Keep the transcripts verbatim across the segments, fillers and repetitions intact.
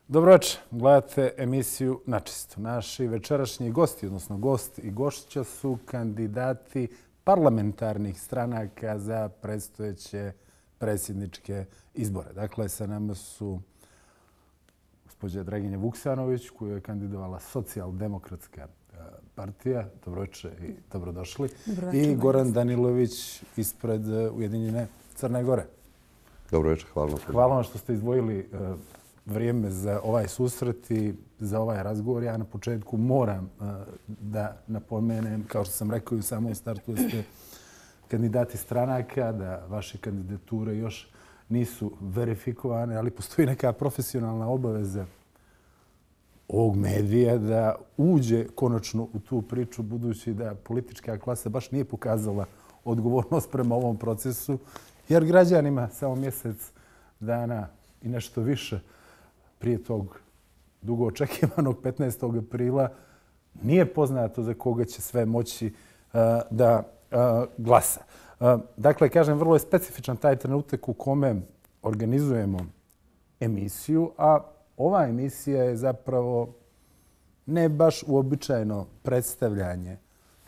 Dobro večer, gledate emisiju Načisto. Naši večerašnji gosti, odnosno gost i gošća su kandidati parlamentarnih stranaka za predstojeće predsjedničke izbore. Dakle, sa nama su gospođa Draginja Vuksanović, koju je kandidovala Socijaldemokratska partija. Dobro večer i dobrodošli. I Goran Danilović ispred Ujedinjene Crne Gore. Dobro večer, hvala vam. Hvala vam što ste izdvojili vrijeme za ovaj susret i za ovaj razgovor. Ja na početku moram da napomenem, kao što sam rekao i u samom startu, da ste kandidati stranaka, da vaše kandidature još nisu verifikovane, ali postoji neka profesionalna obaveza ovog medija da uđe konačno u tu priču, budući da politička klasa baš nije pokazala odgovornost prema ovom procesu, jer građanima samo mjesec dana i nešto više prije tog dugo očekivanog petnaestog aprila nije poznato za koga će sve moći uh, da uh, glasa. Uh, dakle, kažem, vrlo je specifičan taj trenutak u kome organizujemo emisiju, a ova emisija je zapravo ne baš uobičajeno predstavljanje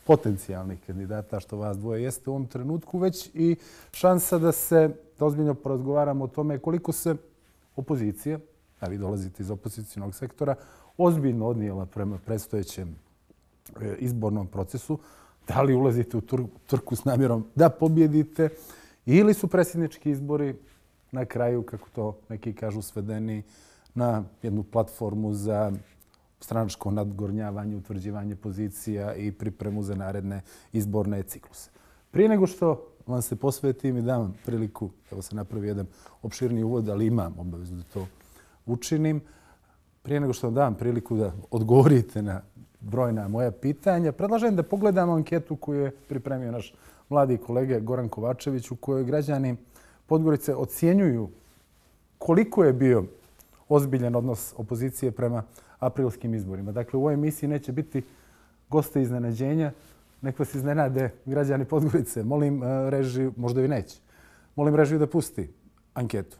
potencijalnih kandidata, što vas dvoje jeste u ovom trenutku, već i šansa da se da ozbiljno porazgovaramo o tome koliko se opozicija, a vi dolazite iz opozicijnog sektora, ozbiljno odnijela prema predstojećem izbornom procesu. Da li ulazite u trku s namjerom da pobjedite ili su predsjednički izbori na kraju, kako to neki kažu, svedeni na jednu platformu za stranačko nadgornjavanje, utvrđivanje pozicija i pripremu za naredne izborne cikluse. Prije nego što vam se posvetim i dam vam priliku, evo se napravi jedan opširni uvod, ali imam obavezu da to učinim. Prije nego što vam dam priliku da odgovorite na brojna moja pitanja, predlažem da pogledamo anketu koju je pripremio naš mladi kolega Goran Kovačević, u kojoj građani Podgorice ocjenjuju koliko je bio ozbiljan odnos opozicije prema aprilskim izborima. Dakle, u ovoj emisiji neće biti goste iznenađenja, nek vas iznenade građani Podgorice. Molim režiju, možda i neće, molim režiju da pusti anketu.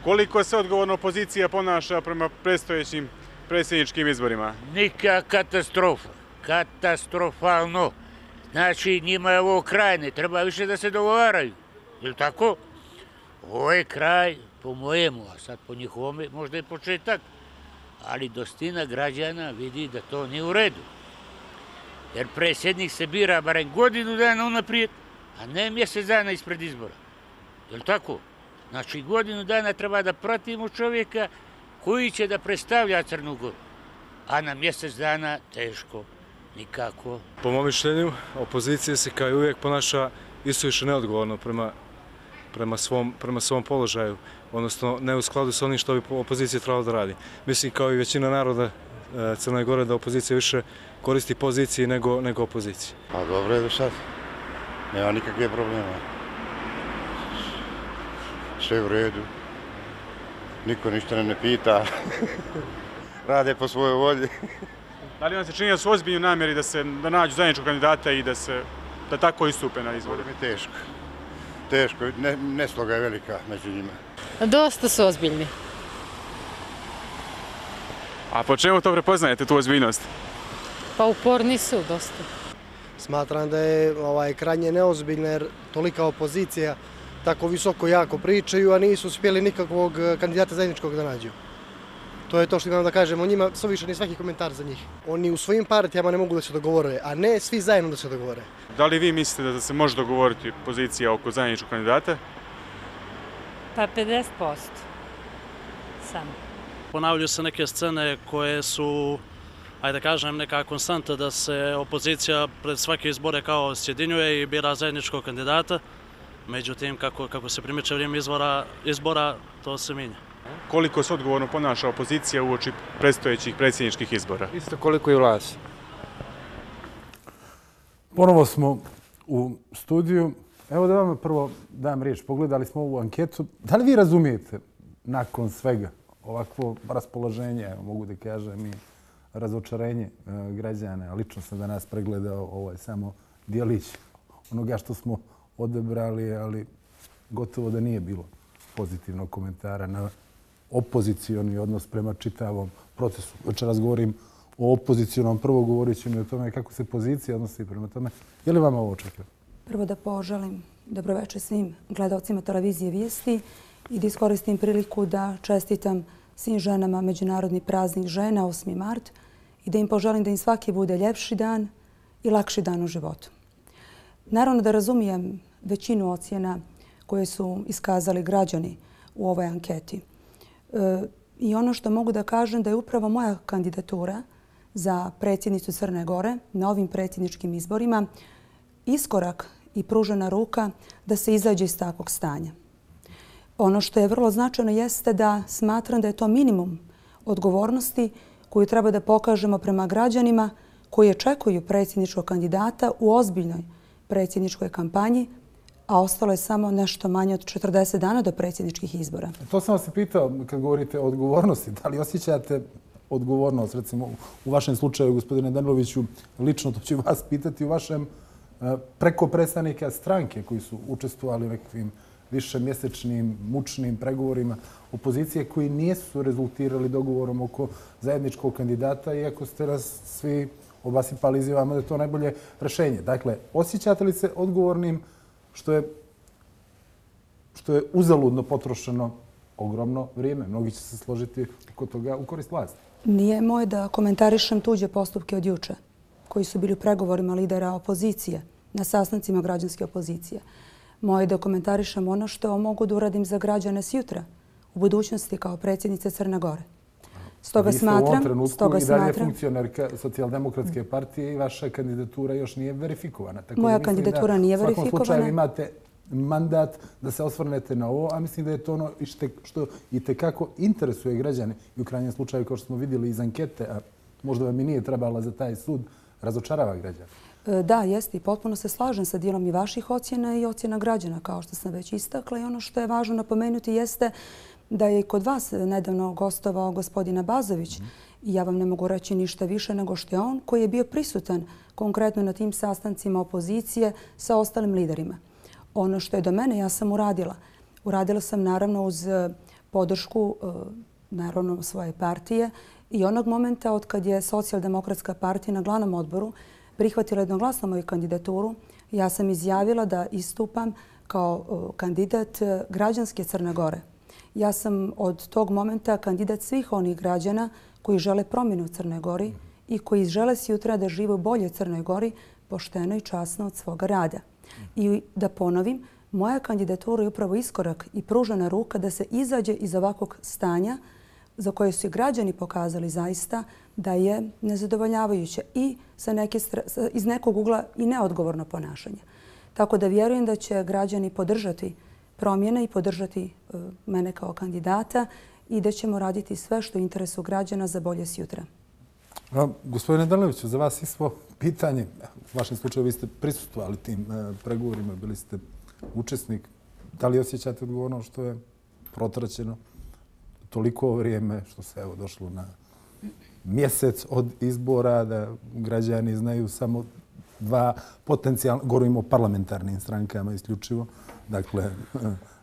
Koliko se odgovorno opozicija ponaša prema predstojećim predsjedničkim izborima? Nika katastrofa. Katastrofalno. Znači, njima je ovo kraj, ne treba više da se dogovaraju. Je li tako? Ovo je kraj, po mojemu, a sad po njihovome možda je početak, ali dostina građana vidi da to nije u redu. Jer predsjednik se bira barem godinu dana unaprijed, a ne mjesec dana ispred izbora. Je li tako? Znači, godinu dana treba da pratimo čovjeka koji će da predstavlja Crnu Goru. A na mjesec dana teško, nikako. Po mom mišljenju, opozicija se kao i uvijek ponaša isuviše neodgovorno prema, prema, svom, prema svom položaju, odnosno ne u skladu sa onim što bi opozicija trebala da radi. Mislim, kao i većina naroda Crne Gore, da opozicija više koristi poziciji nego, nego opoziciji. Pa dobro je do sad. Nema nikakve problema. Sve u redu. Niko ništa ne pita. Rade po svojoj volji. Da li vam se čini da su ozbiljni namjeri da se da nađu zajedničkog kandidata i da se da tako istupe na izbore? To je teško. Teško. Ne, nesloga je velika među njima. Dosta su ozbiljni. A po čemu to prepoznajete, tu ozbiljnost? Pa uporni su dosta. Smatram da je ovaj, krajnje neozbiljno jer tolika opozicija tako visoko jako pričaju, a nisu uspjeli nikakvog kandidata zajedničkog da nađu. To je to što imam da kažem o njima, sve više ni svaki komentar za njih. Oni u svojim partijama ne mogu da se dogovore, a ne svi zajedno da se dogovore. Da li vi mislite da se može dogovoriti pozicija oko zajedničkog kandidata? Pa pedeset posto. Samo. Ponavljaju se neke scene koje su, ajde da kažem, neka konstanta da se opozicija pred svake izbore kao sjedinjuje i bira zajedničkog kandidata. Međutim, kako, kako se primiče vrijeme izbora, izbora, to se mijenja. Koliko se odgovorno ponaša opozicija uoči predstojećih predsjedničkih izbora? Isto koliko i vlast. Ponovo smo u studiju. Evo da vam prvo dam riječ. Pogledali smo ovu anketu. Da li vi razumijete nakon svega ovakvo raspoloženje, evo, mogu da kažem i razočarenje građana? Lično sam danas pregledao ovo je samo dijelić onoga što smo odebrali, ali gotovo da nije bilo pozitivnog komentara na opozicioni odnos prema čitavom procesu. Večeras govorim o opozicionom, prvo govorit ću mi o tome kako se pozicija odnosi prema tome. Je li vama ovo očekivano? Prvo da poželim dobroveče svim gledalcima televizije Vijesti i da iskoristim priliku da čestitam svim ženama Međunarodni praznik žena, osmi mart, i da im poželim da im svaki bude ljepši dan i lakši dan u životu. Naravno da razumijem većinu ocjena koje su iskazali građani u ovoj anketi. E, I ono što mogu da kažem da je upravo moja kandidatura za predsjednicu Crne Gore na ovim predsjedničkim izborima iskorak i pružena ruka da se izađe iz takvog stanja. Ono što je vrlo značajno jeste da smatram da je to minimum odgovornosti koju treba da pokažemo prema građanima koji očekuju predsjedničkog kandidata u ozbiljnoj predsjedničkoj kampanji, a ostalo je samo nešto manje od četrdeset dana do predsjedničkih izbora. To sam vas i pitao kad govorite o odgovornosti. Da li osjećate odgovornost, recimo u vašem slučaju, gospodine Daniloviću, lično to ću vas pitati, u vašem preko predstavnika stranke koji su učestvovali u nekakvim višemjesečnim, mučnim pregovorima opozicije koji nisu rezultirali dogovorom oko zajedničkog kandidata, iako ste nas svi obasipali izjavama da je to najbolje rešenje. Dakle, osjećate li se odgovornim što je, što je uzaludno potrošeno ogromno vrijeme? Mnogi će se složiti oko toga u korist vlasti. Nije moje da komentarišem tuđe postupke od juče, koji su bili u pregovorima lidera opozicije, na sastancima građanske opozicije. Moje je da komentarišem ono što mogu da uradim za građane sjutra, u budućnosti kao predsjednice Crne Gore. Stoga smatram... Vi ste u ovom trenutku i dalje funkcionerka Socijaldemokratske partije i vaša kandidatura još nije verifikovana. Moja kandidatura nije verifikovana. U svakom slučaju imate mandat da se osvrnete na ovo, a mislim da je to ono što i tekako interesuje građane i u krajnjem slučaju, kao što smo vidjeli iz ankete, a možda vam i nije trebala za taj sud, razočarava građane. Da, jeste i potpuno se slažem sa dijelom i vaših ocjena i ocjena građana, kao što sam već istakla. I ono što je važno napomenuti jeste da je i kod vas nedavno gostovao gospodin Abazović i ja vam ne mogu reći ništa više nego što je on koji je bio prisutan konkretno na tim sastancima opozicije sa ostalim liderima. Ono što je do mene, ja sam uradila. Uradila sam naravno uz podršku naravno svoje partije i onog momenta od kad je Socijaldemokratska partija na glavnom odboru prihvatila jednoglasno moju kandidaturu, ja sam izjavila da istupam kao kandidat građanske Crne Gore. Ja sam od tog momenta kandidat svih onih građana koji žele promjenu u Crnoj Gori i koji žele sutra da žive u boljoj Crnoj Gori, pošteno i časno od svoga rada. I da ponovim, moja kandidatura je upravo iskorak i pružena ruka da se izađe iz ovakvog stanja za koje su i građani pokazali zaista da je nezadovoljavajuće i sa neke, iz nekog ugla i neodgovorno ponašanje. Tako da vjerujem da će građani podržati promjene i podržati uh, mene kao kandidata i da ćemo raditi sve što je u interesu građana za bolje sutra. A, gospodine Daniloviću, za vas isto pitanje. U vašem slučaju vi ste prisustvovali tim uh, pregovorima, bili ste učesnik. Da li osjećate odgovornost što je protraćeno toliko vrijeme, što se evo došlo na mjesec od izbora, da građani znaju samo dva potencijalna, govorimo o parlamentarnim strankama isključivo, dakle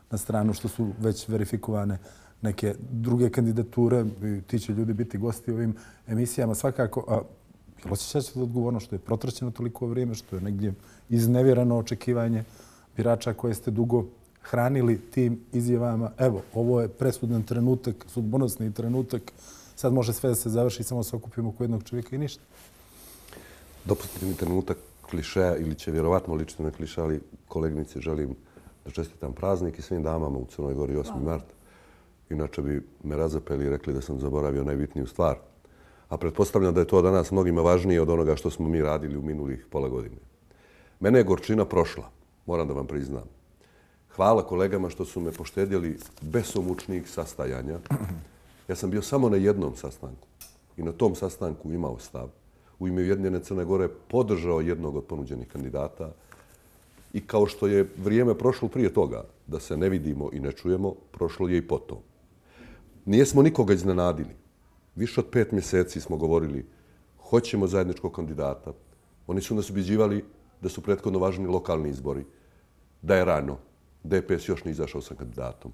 na stranu što su već verifikovane neke druge kandidature, ti će ljudi biti gosti u ovim emisijama svakako. A jel osjećate odgovornost što je protraćeno toliko vrijeme, što je negdje iznevjereno očekivanje birača koje ste dugo hranili tim izjavama? Evo, ovo je presudan trenutak, sudbonosni trenutak, sad može sve da se završi, samo se okupimo oko jednog čovjeka i ništa. Dopustite mi trenutak klišeja ili će vjerovatno ličiti na kliše, ali koleginici želim da čestitam praznik i svim damama u Crnoj Gori osmi mart. Inače bi me razapeli i rekli da sam zaboravio najbitniju stvar. A pretpostavljam da je to danas mnogima važnije od onoga što smo mi radili u minulih pola godine. Mene je gorčina prošla, moram da vam priznam. Hvala kolegama što su me poštedjeli besomučnih sastajanja. Ja sam bio samo na jednom sastanku i na tom sastanku imao stav. U ime Ujedinjene Crne Gore podržao jednog od ponuđenih kandidata i kao što je vrijeme prošlo prije toga da se ne vidimo i ne čujemo, prošlo je i potom. Nijesmo nikoga iznenadili. Više od pet mjeseci smo govorili hoćemo zajedničkog kandidata. Oni su nas ubjeđivali da su prethodno važni lokalni izbori, da je rano, D P S još nije izašao sa kandidatom,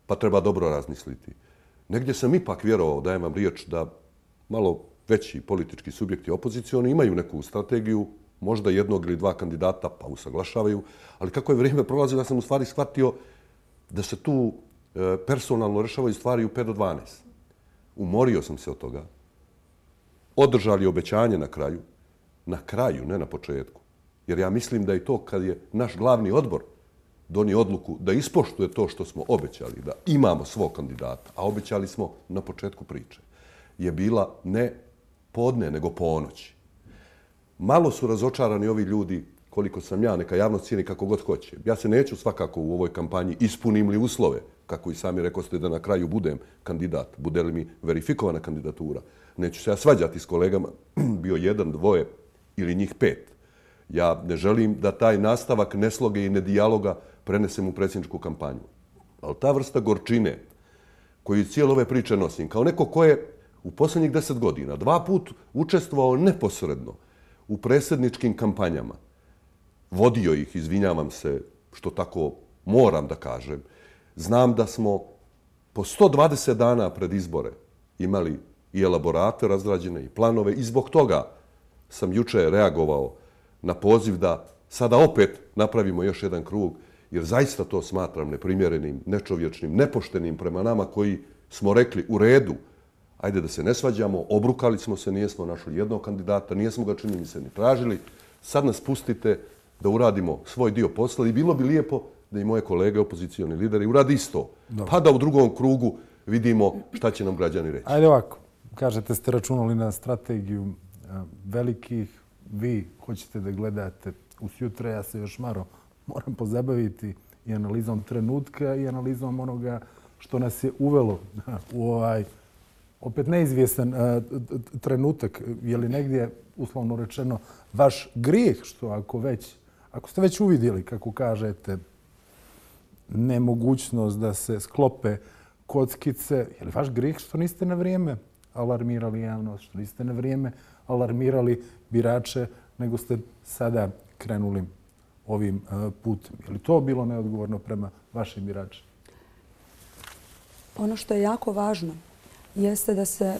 pa treba dobro razmisliti. Negdje sam ipak vjerovao, dajem vam riječ, da malo veći politički subjekti opozicioni imaju neku strategiju, možda jednog ili dva kandidata pa usaglašavaju, ali kako je vrijeme prolazilo, ja sam u stvari shvatio da se tu personalno rešavaju stvari u pet do dvanaest. Umorio sam se od toga. Održali obećanje na kraju. Na kraju, ne na početku. Jer ja mislim da je to kad je naš glavni odbor donio odluku da ispoštuje to što smo obećali, da imamo svog kandidata, a obećali smo na početku priče, je bila ne podne, nego ponoći. Malo su razočarani ovi ljudi, koliko sam ja, neka javnost cijeni kako god hoće. Ja se neću svakako u ovoj kampanji, ispunim li uslove, kako i sami rekoste, da na kraju budem kandidat, bude li mi verifikovana kandidatura. Neću se ja svađati s kolegama, bio jedan, dvoje ili njih pet. Ja ne želim da taj nastavak nesloge i nedijaloga prenesem u predsjedničku kampanju. Ali ta vrsta gorčine koju cijelo ove priče nosim, kao neko ko je u posljednjih deset godina dva put učestvovao neposredno u predsjedničkim kampanjama, vodio ih, izvinjavam se što tako moram da kažem, znam da smo po sto dvadeset dana pred izbore imali i elaborate razrađene i planove i zbog toga sam juče reagovao na poziv da sada opet napravimo još jedan krug, jer zaista to smatram neprimjerenim, nečovječnim, nepoštenim prema nama koji smo rekli u redu, ajde da se ne svađamo, obrukali smo se, nijesmo našli jednog kandidata, nijesmo ga čini mi se ni tražili, sad nas pustite da uradimo svoj dio posla i bilo bi lijepo da i moje kolege, opozicioni lideri, uradi isto. Dobro. Pa da u drugom krugu vidimo šta će nam građani reći. Ajde ovako, kažete ste računali na strategiju velikih, vi hoćete da gledate u sutra, ja se još malo moram pozabaviti i analizom trenutka i analizom onoga što nas je uvelo u ovaj opet neizvjestan trenutak. Je li negdje, uslovno rečeno, vaš grijeh što ako već, ako ste već uvidjeli, kako kažete, nemogućnost da se sklope kockice, je li vaš grijeh što niste na vrijeme alarmirali javnost, što niste na vrijeme alarmirali birače, nego ste sada krenuli ovim putem? Je li to bilo neodgovorno prema vašim biračima? Ono što je jako važno jeste da se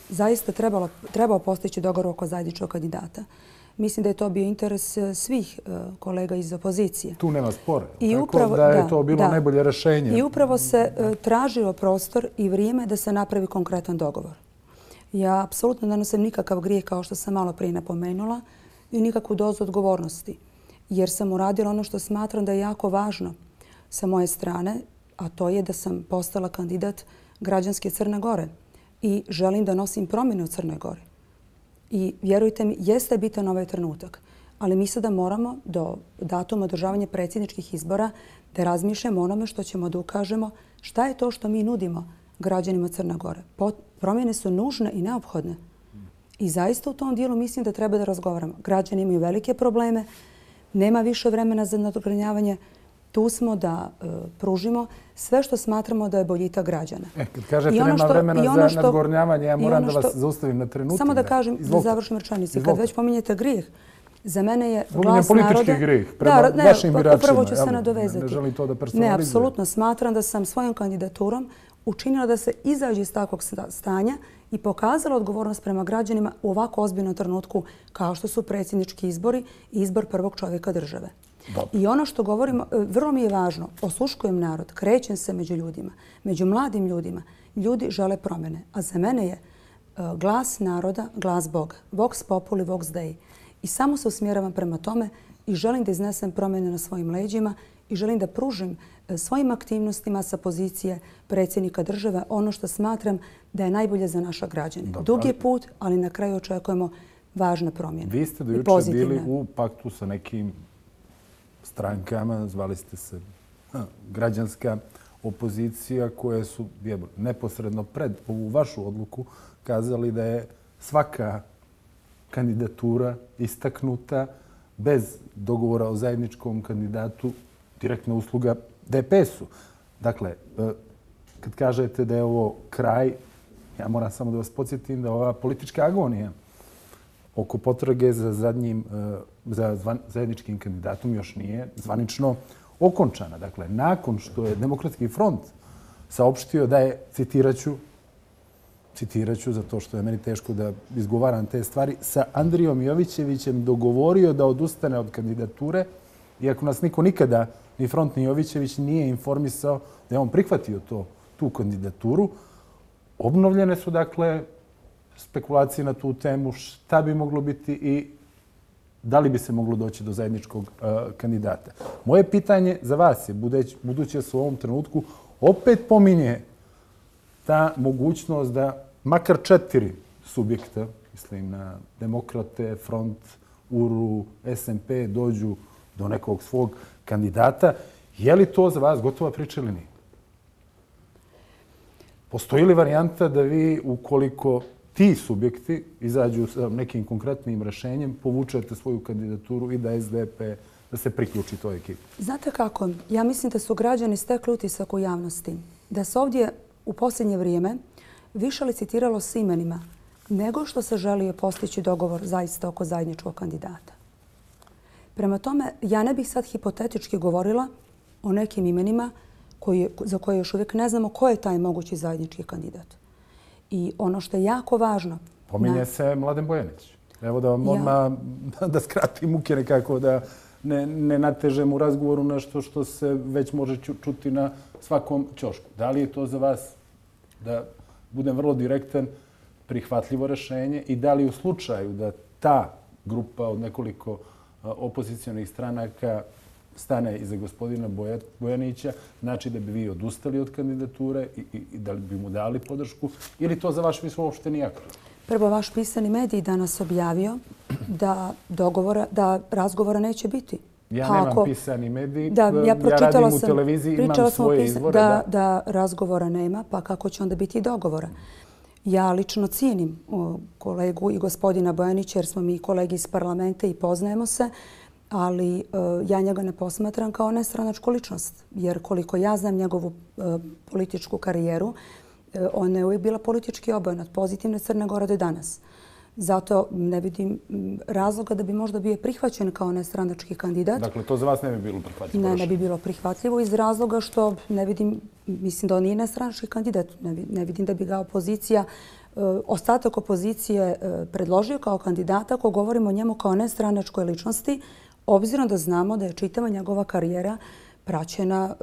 zaista trebalo, trebao postići dogovor oko zajedničkog kandidata. Mislim da je to bio interes svih kolega iz opozicije. Tu nema spora. I tako upravo, da je da, to bilo da. najbolje rješenje. I upravo se tražilo prostor i vrijeme da se napravi konkretan dogovor. Ja apsolutno ne nosim nikakav grijeh, kao što sam malo prije napomenula, i nikakvu dozu odgovornosti. Jer sam uradila ono što smatram da je jako važno sa moje strane, a to je da sam postala kandidat građanske Crne Gore i želim da nosim promjene u Crnoj Gori. I vjerujte mi, jeste bitan ovaj trenutak, ali mi sada moramo do datuma održavanja predsjedničkih izbora da razmišljamo onome što ćemo da ukažemo šta je to što mi nudimo građanima Crne Gore. Promjene su nužne i neophodne. I zaista u tom dijelu mislim da treba da razgovaramo. Građani imaju velike probleme, nema više vremena za nadogranjavanje. Tu smo da uh, pružimo sve što smatramo da je boljitak građana. E, kad kažete nema što, vremena za nadgornjavanje, ja moram da vas što, zaustavim na trenutak. Samo da kažem, da završim rečenicu. Kad već pominjete grijeh, za mene je glas naroda... politički grijeh prema da, ne, vašim biračima. Upravo ću se nadovezati. Ne, ne želim to da personalizujem. Ne, apsolutno smatram da sam svojom kandidaturom učinila da se izađe iz takvog stanja i pokazala odgovornost prema građanima u ovako ozbiljnom trenutku kao što su predsjednički izbori i izbor prvog čovjeka države. Dobro. I ono što govorimo, vrlo mi je važno, osluškujem narod, krećem se među ljudima, među mladim ljudima. Ljudi žele promjene, a za mene je glas naroda, glas Boga. Vox populi, vox dei. I samo se usmjeravam prema tome i želim da iznesem promjene na svojim leđima i želim da pružim svojim aktivnostima sa pozicije predsjednika države ono što smatram da je najbolje za naša građane. Dobro. Dug je put, ali na kraju očekujemo važne promjene. Vi ste do juče bili u paktu sa nekim strankama, zvali ste se ha, građanska opozicija, koje su jebo, neposredno pred ovu vašu odluku kazali da je svaka kandidatura istaknuta bez dogovora o zajedničkom kandidatu direktna usluga D P S-u. Dakle, kad kažete da je ovo kraj, ja moram samo da vas podsjetim da ova politička agonija oko potrage za zadnjim, za zajedničkim kandidatom još nije zvanično okončana. Dakle, nakon što je Demokratski front saopštio da je, citiraću, citiraću zato što je meni teško da izgovaram te stvari, sa Andrijom Jovićevićem dogovorio da odustane od kandidature, iako nas niko nikada, ni Front ni Jovićević, nije informisao da je on prihvatio to, tu kandidaturu. Obnovljene su, dakle, spekulacije na tu temu, šta bi moglo biti i da li bi se moglo doći do zajedničkog uh, kandidata. Moje pitanje za vas je, budući da se u ovom trenutku opet pominje ta mogućnost da makar četiri subjekta, mislim na Demokrate, Front, U R U, S N P, dođu do nekog svog kandidata. Je li to za vas gotova priča ili nije? Postoji li varijanta da vi, ukoliko ti subjekti izađu sa nekim konkretnim rešenjem, povučete svoju kandidaturu i da S D P da se priključi toj ekipi? Znate kako? Ja mislim da su građani stekli utisak u javnosti. Da se ovdje u posljednje vrijeme više licitiralo s imenima nego što se želio postići dogovor zaista oko zajedničkog kandidata. Prema tome, ja ne bih sad hipotetički govorila o nekim imenima koji, za koje još uvijek ne znamo ko je taj mogući zajednički kandidat. I ono što je jako važno... Pominje na... se Mladen Bojanić. Evo da vam ja... odmah da skratim muke nekako, da ne, ne natežem u razgovoru nešto što se već može čuti na svakom ćošku. Da li je to za vas, da budem vrlo direktan, prihvatljivo rešenje i da li u slučaju da ta grupa od nekoliko opozicijonih stranaka stane iza gospodina Bojanića, znači da bi vi odustali od kandidature i, i, i da li bi mu dali podršku ili to za vaš misl uopšte nije aktualno? Prvo, vaš pisani medij danas objavio da, dogovora, da razgovora neće biti. Ja nemam Ako, pisani medij, da, ja, ja radim sam, u televiziji, imam svoje pisa, izvore. Da, da. da razgovora nema, pa kako će onda biti dogovora? Ja lično cijenim kolegu i gospodina Bojanića jer smo mi kolegi iz parlamenta i poznajemo se, ali uh, ja njega ne posmatram kao nestranačku ličnost. Jer koliko ja znam njegovu uh, političku karijeru, uh, ona je uvijek bila politički obojen od pozitivne Crne Gore do danas. Zato ne vidim razloga da bi možda bio prihvaćen kao nestranački kandidat. Dakle, to za vas ne bi bilo prihvatljivo? Ne, ne bi bilo prihvatljivo iz razloga što ne vidim, mislim da on nije nestranački kandidat. Ne, ne vidim da bi ga opozicija, ostatak opozicije predložio kao kandidata ako govorimo o njemu kao nestranačkoj ličnosti, obzirom da znamo da je čitava njegova karijera praćena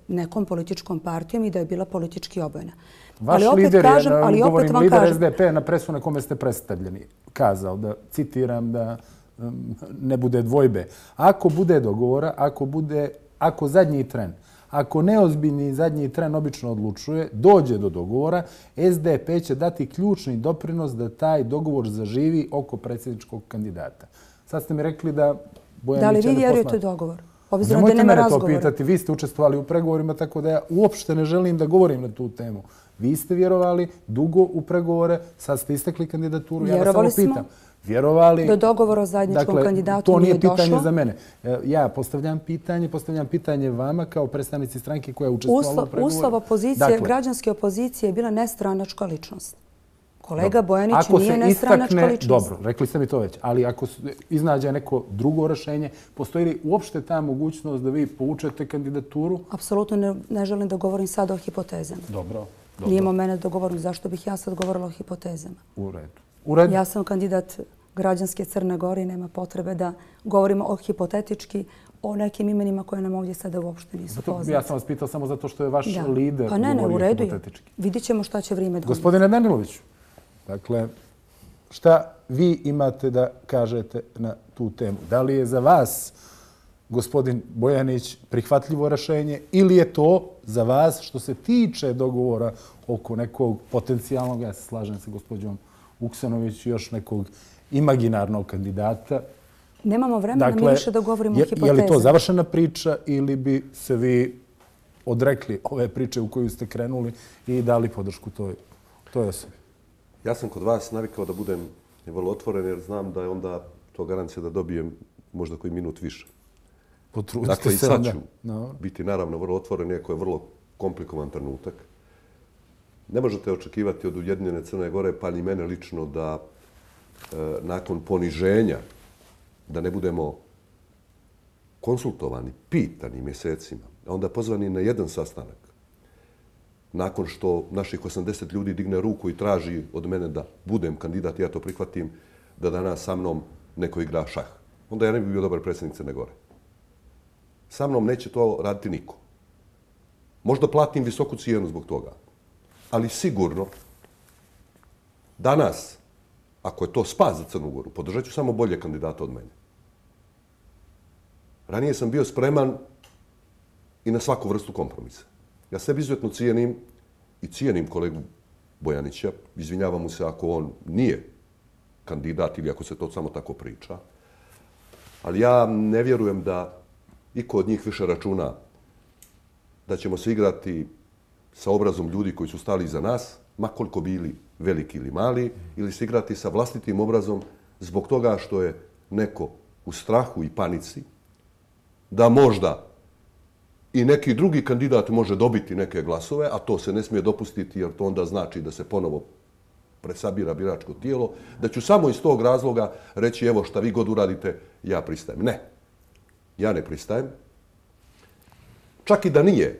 nekom političkom partijom i da je bila politički obojena. Vaš ali opet lider kažem, je, ali govorim, opet vam lider kažem, S D P na presu na kome ste predstavljeni, kazao da, citiram, da um, ne bude dvojbe. Ako bude dogovora, ako bude, ako zadnji tren, ako neozbiljni zadnji tren obično odlučuje, dođe do dogovora, S D P će dati ključni doprinos da taj dogovor zaživi oko predsjedničkog kandidata. Sad ste mi rekli da Bojanića ne posmatra. Da li vi vjerujete u dogovor? Obzirom Nemojte da nema mene razgovora. to pitati, vi ste učestvovali u pregovorima, tako da ja uopšte ne želim da govorim na tu temu. Vi ste vjerovali dugo u pregovore, sad ste istekli kandidaturu, ja vas samo pitam. Vjerovali... Do dogovora o zajedničkom dakle, kandidatu nije došlo. To nije pitanje za mene. Ja postavljam pitanje, postavljam pitanje vama kao predstavnici stranke koja je učestvovala u pregovoru. Uslov opozicije, dakle, građanske opozicije je bila nestranačka ličnost. Kolega Bojanić ako nije nestranačka istakne, ličnost. Dobro, rekli ste mi to već, ali ako iznađe neko drugo rešenje, postoji li uopšte ta mogućnost da vi povučete kandidaturu? Apsolutno ne, ne želim da govorim sad o hipotezama. Dobro. Dobro. Nije mo mene da govorim zašto bih ja sad govorila o hipotezama. U redu. U redu. Ja sam kandidat građanske Crne Gore i nema potrebe da govorimo o hipotetički o nekim imenima koje nam ovdje sada uopšte nisu poznate. Ja sam vas pitao samo zato što je vaš da. lider pa ne, ne, govorio u redu hipotetički. Vidjet ćemo šta će vrijeme donijeti. Gospodine Daniloviću, dakle, šta vi imate da kažete na tu temu? Da li je za vas gospodin Bojanić prihvatljivo rešenje ili je to za vas što se tiče dogovora oko nekog potencijalnog, ja se slažem sa gospođom Vuksanović, još nekog imaginarnog kandidata? Nemamo vremena dakle, mi više da govorimo je, o hipotezama. Je li to završena priča ili bi se vi odrekli ove priče u koju ste krenuli i dali podršku toj, toj osobi? Ja sam kod vas navikao da budem vrlo otvoren jer znam da je onda to garancija da dobijem možda koji minut više. Potrudite dakle, se. Dakle, i sad ću no. biti naravno vrlo otvoren, iako je vrlo komplikovan trenutak. Ne možete očekivati od Ujedinjene Crne Gore, pa ni mene lično, da nakon poniženja, da ne budemo konsultovani, pitani mjesecima, a onda pozvani na jedan sastanak, nakon što naših osamdeset ljudi digne ruku i traži od mene da budem kandidat, ja to prihvatim, da danas sa mnom neko igra šah. Onda ja ne bi bio dobar predsjednik Crne Gore. Sa mnom neće to raditi niko. Možda platim visoku cijenu zbog toga. Ali sigurno, danas, ako je to spas za Crnu Goru, podržat ću samo bolje kandidata od mene. Ranije sam bio spreman i na svaku vrstu kompromisa. Ja sebi izuzetno cijenim i cijenim kolegu Bojanića. Izvinjavam mu se ako on nije kandidat ili ako se to samo tako priča. Ali ja ne vjerujem da iko od njih više računa da ćemo se igrati sa obrazom ljudi koji su stali iza nas, ma koliko bili veliki ili mali, ili se igrati sa vlastitim obrazom zbog toga što je neko u strahu i panici, da možda i neki drugi kandidat može dobiti neke glasove, a to se ne smije dopustiti jer to onda znači da se ponovo presabira biračko tijelo, da ću samo iz tog razloga reći evo šta vi god uradite, ja pristajem. Ne, ja ne pristajem. Čak i da nije.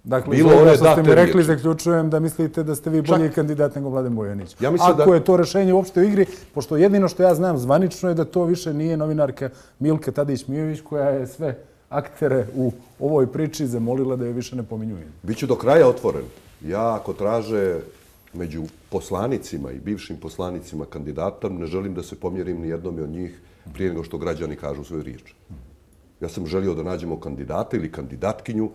Dakle, bilo ono što ste mi rekli, zaključujem da mislite da ste vi bolji kandidat nego Mladen Bojanić. Ako je to rešenje uopšte u igri, pošto jedino što ja znam zvanično je da to više nije novinarka Milka Tadić-Mijović koja je sve aktere u ovoj priči zamolila da je više ne pominjujem. Biću do kraja otvoren. Ja ako traže među poslanicima i bivšim poslanicima kandidata, ne želim da se pomjerim ni jednom od njih prije nego što građani kažu svoju riječ. Ja sam želio da nađemo kandidata ili kandidatkinju,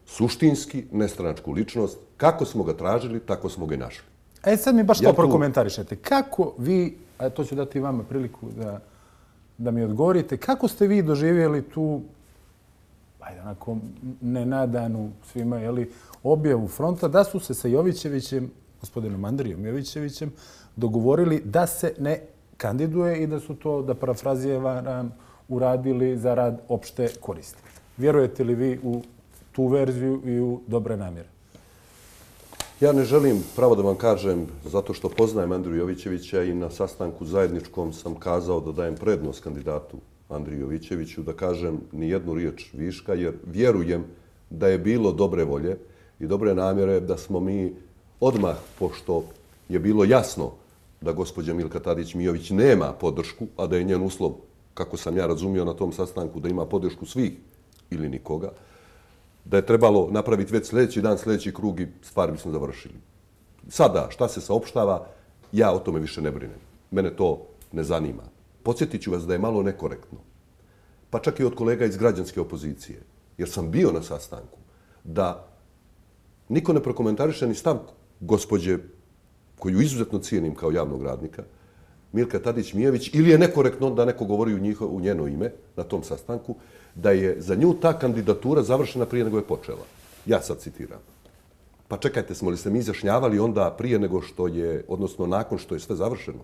suštinski, nestranačku ličnost. Kako smo ga tražili, tako smo ga i našli. E sad mi baš to prokomentarišete. Kako vi, a to ću dati vama priliku da, da mi odgovorite, kako ste vi doživjeli tu, ajde onako, nenadanu svima, jeli, objavu fronta da su se sa Jovićevićem, gospodinom Andrijom Jovićevićem, dogovorili da se ne kandiduje i da su to, da parafraziram, uradili za rad opšte koristi. Vjerujete li vi u tu verziju i u dobre namjere? Ja ne želim, pravo da vam kažem, zato što poznajem Andriju Jovićevića i na sastanku zajedničkom sam kazao da dajem prednost kandidatu Andriju Jovićeviću, da kažem ni jednu riječ viška, jer vjerujem da je bilo dobre volje i dobre namjere da smo mi odmah, pošto je bilo jasno da gospođa Milka Tadić-Mijović nema podršku, a da je njen uslov, kako sam ja razumio na tom sastanku, da ima podršku svih ili nikoga, da je trebalo napraviti već sljedeći dan, sljedeći krug i stvari bismo završili. Sada, šta se saopštava, ja o tome više ne brinem. Mene to ne zanima. Podsjetit ću vas da je malo nekorektno, pa čak i od kolega iz građanske opozicije, jer sam bio na sastanku, da niko ne prokomentariše ni stav gospođe, koju izuzetno cijenim kao javnog radnika, Milka Tadić-Mijović, ili je nekorektno da neko govori u, njiho, u njeno ime na tom sastanku, da je za nju ta kandidatura završena prije nego je počela. Ja sad citiram. Pa čekajte, smo li se mi izjašnjavali onda prije nego što je, odnosno nakon što je sve završeno?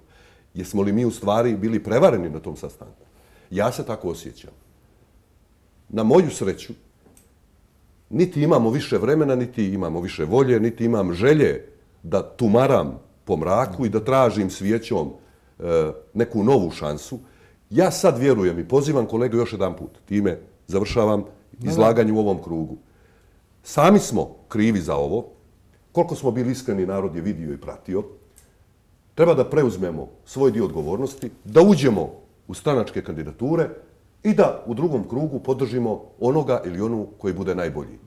Jesmo li mi u stvari bili prevareni na tom sastanku? Ja se tako osjećam. Na moju sreću, niti imamo više vremena, niti imamo više volje, niti imam želje da tumaram po mraku i da tražim svijećom e, neku novu šansu. Ja sad vjerujem i pozivam kolege još jedan put, time završavam izlaganje u ovom krugu. Sami smo krivi za ovo. Koliko smo bili iskreni, narod je vidio i pratio. Treba da preuzmemo svoj dio odgovornosti, da uđemo u stranačke kandidature i da u drugom krugu podržimo onoga ili onu koji bude najbolji.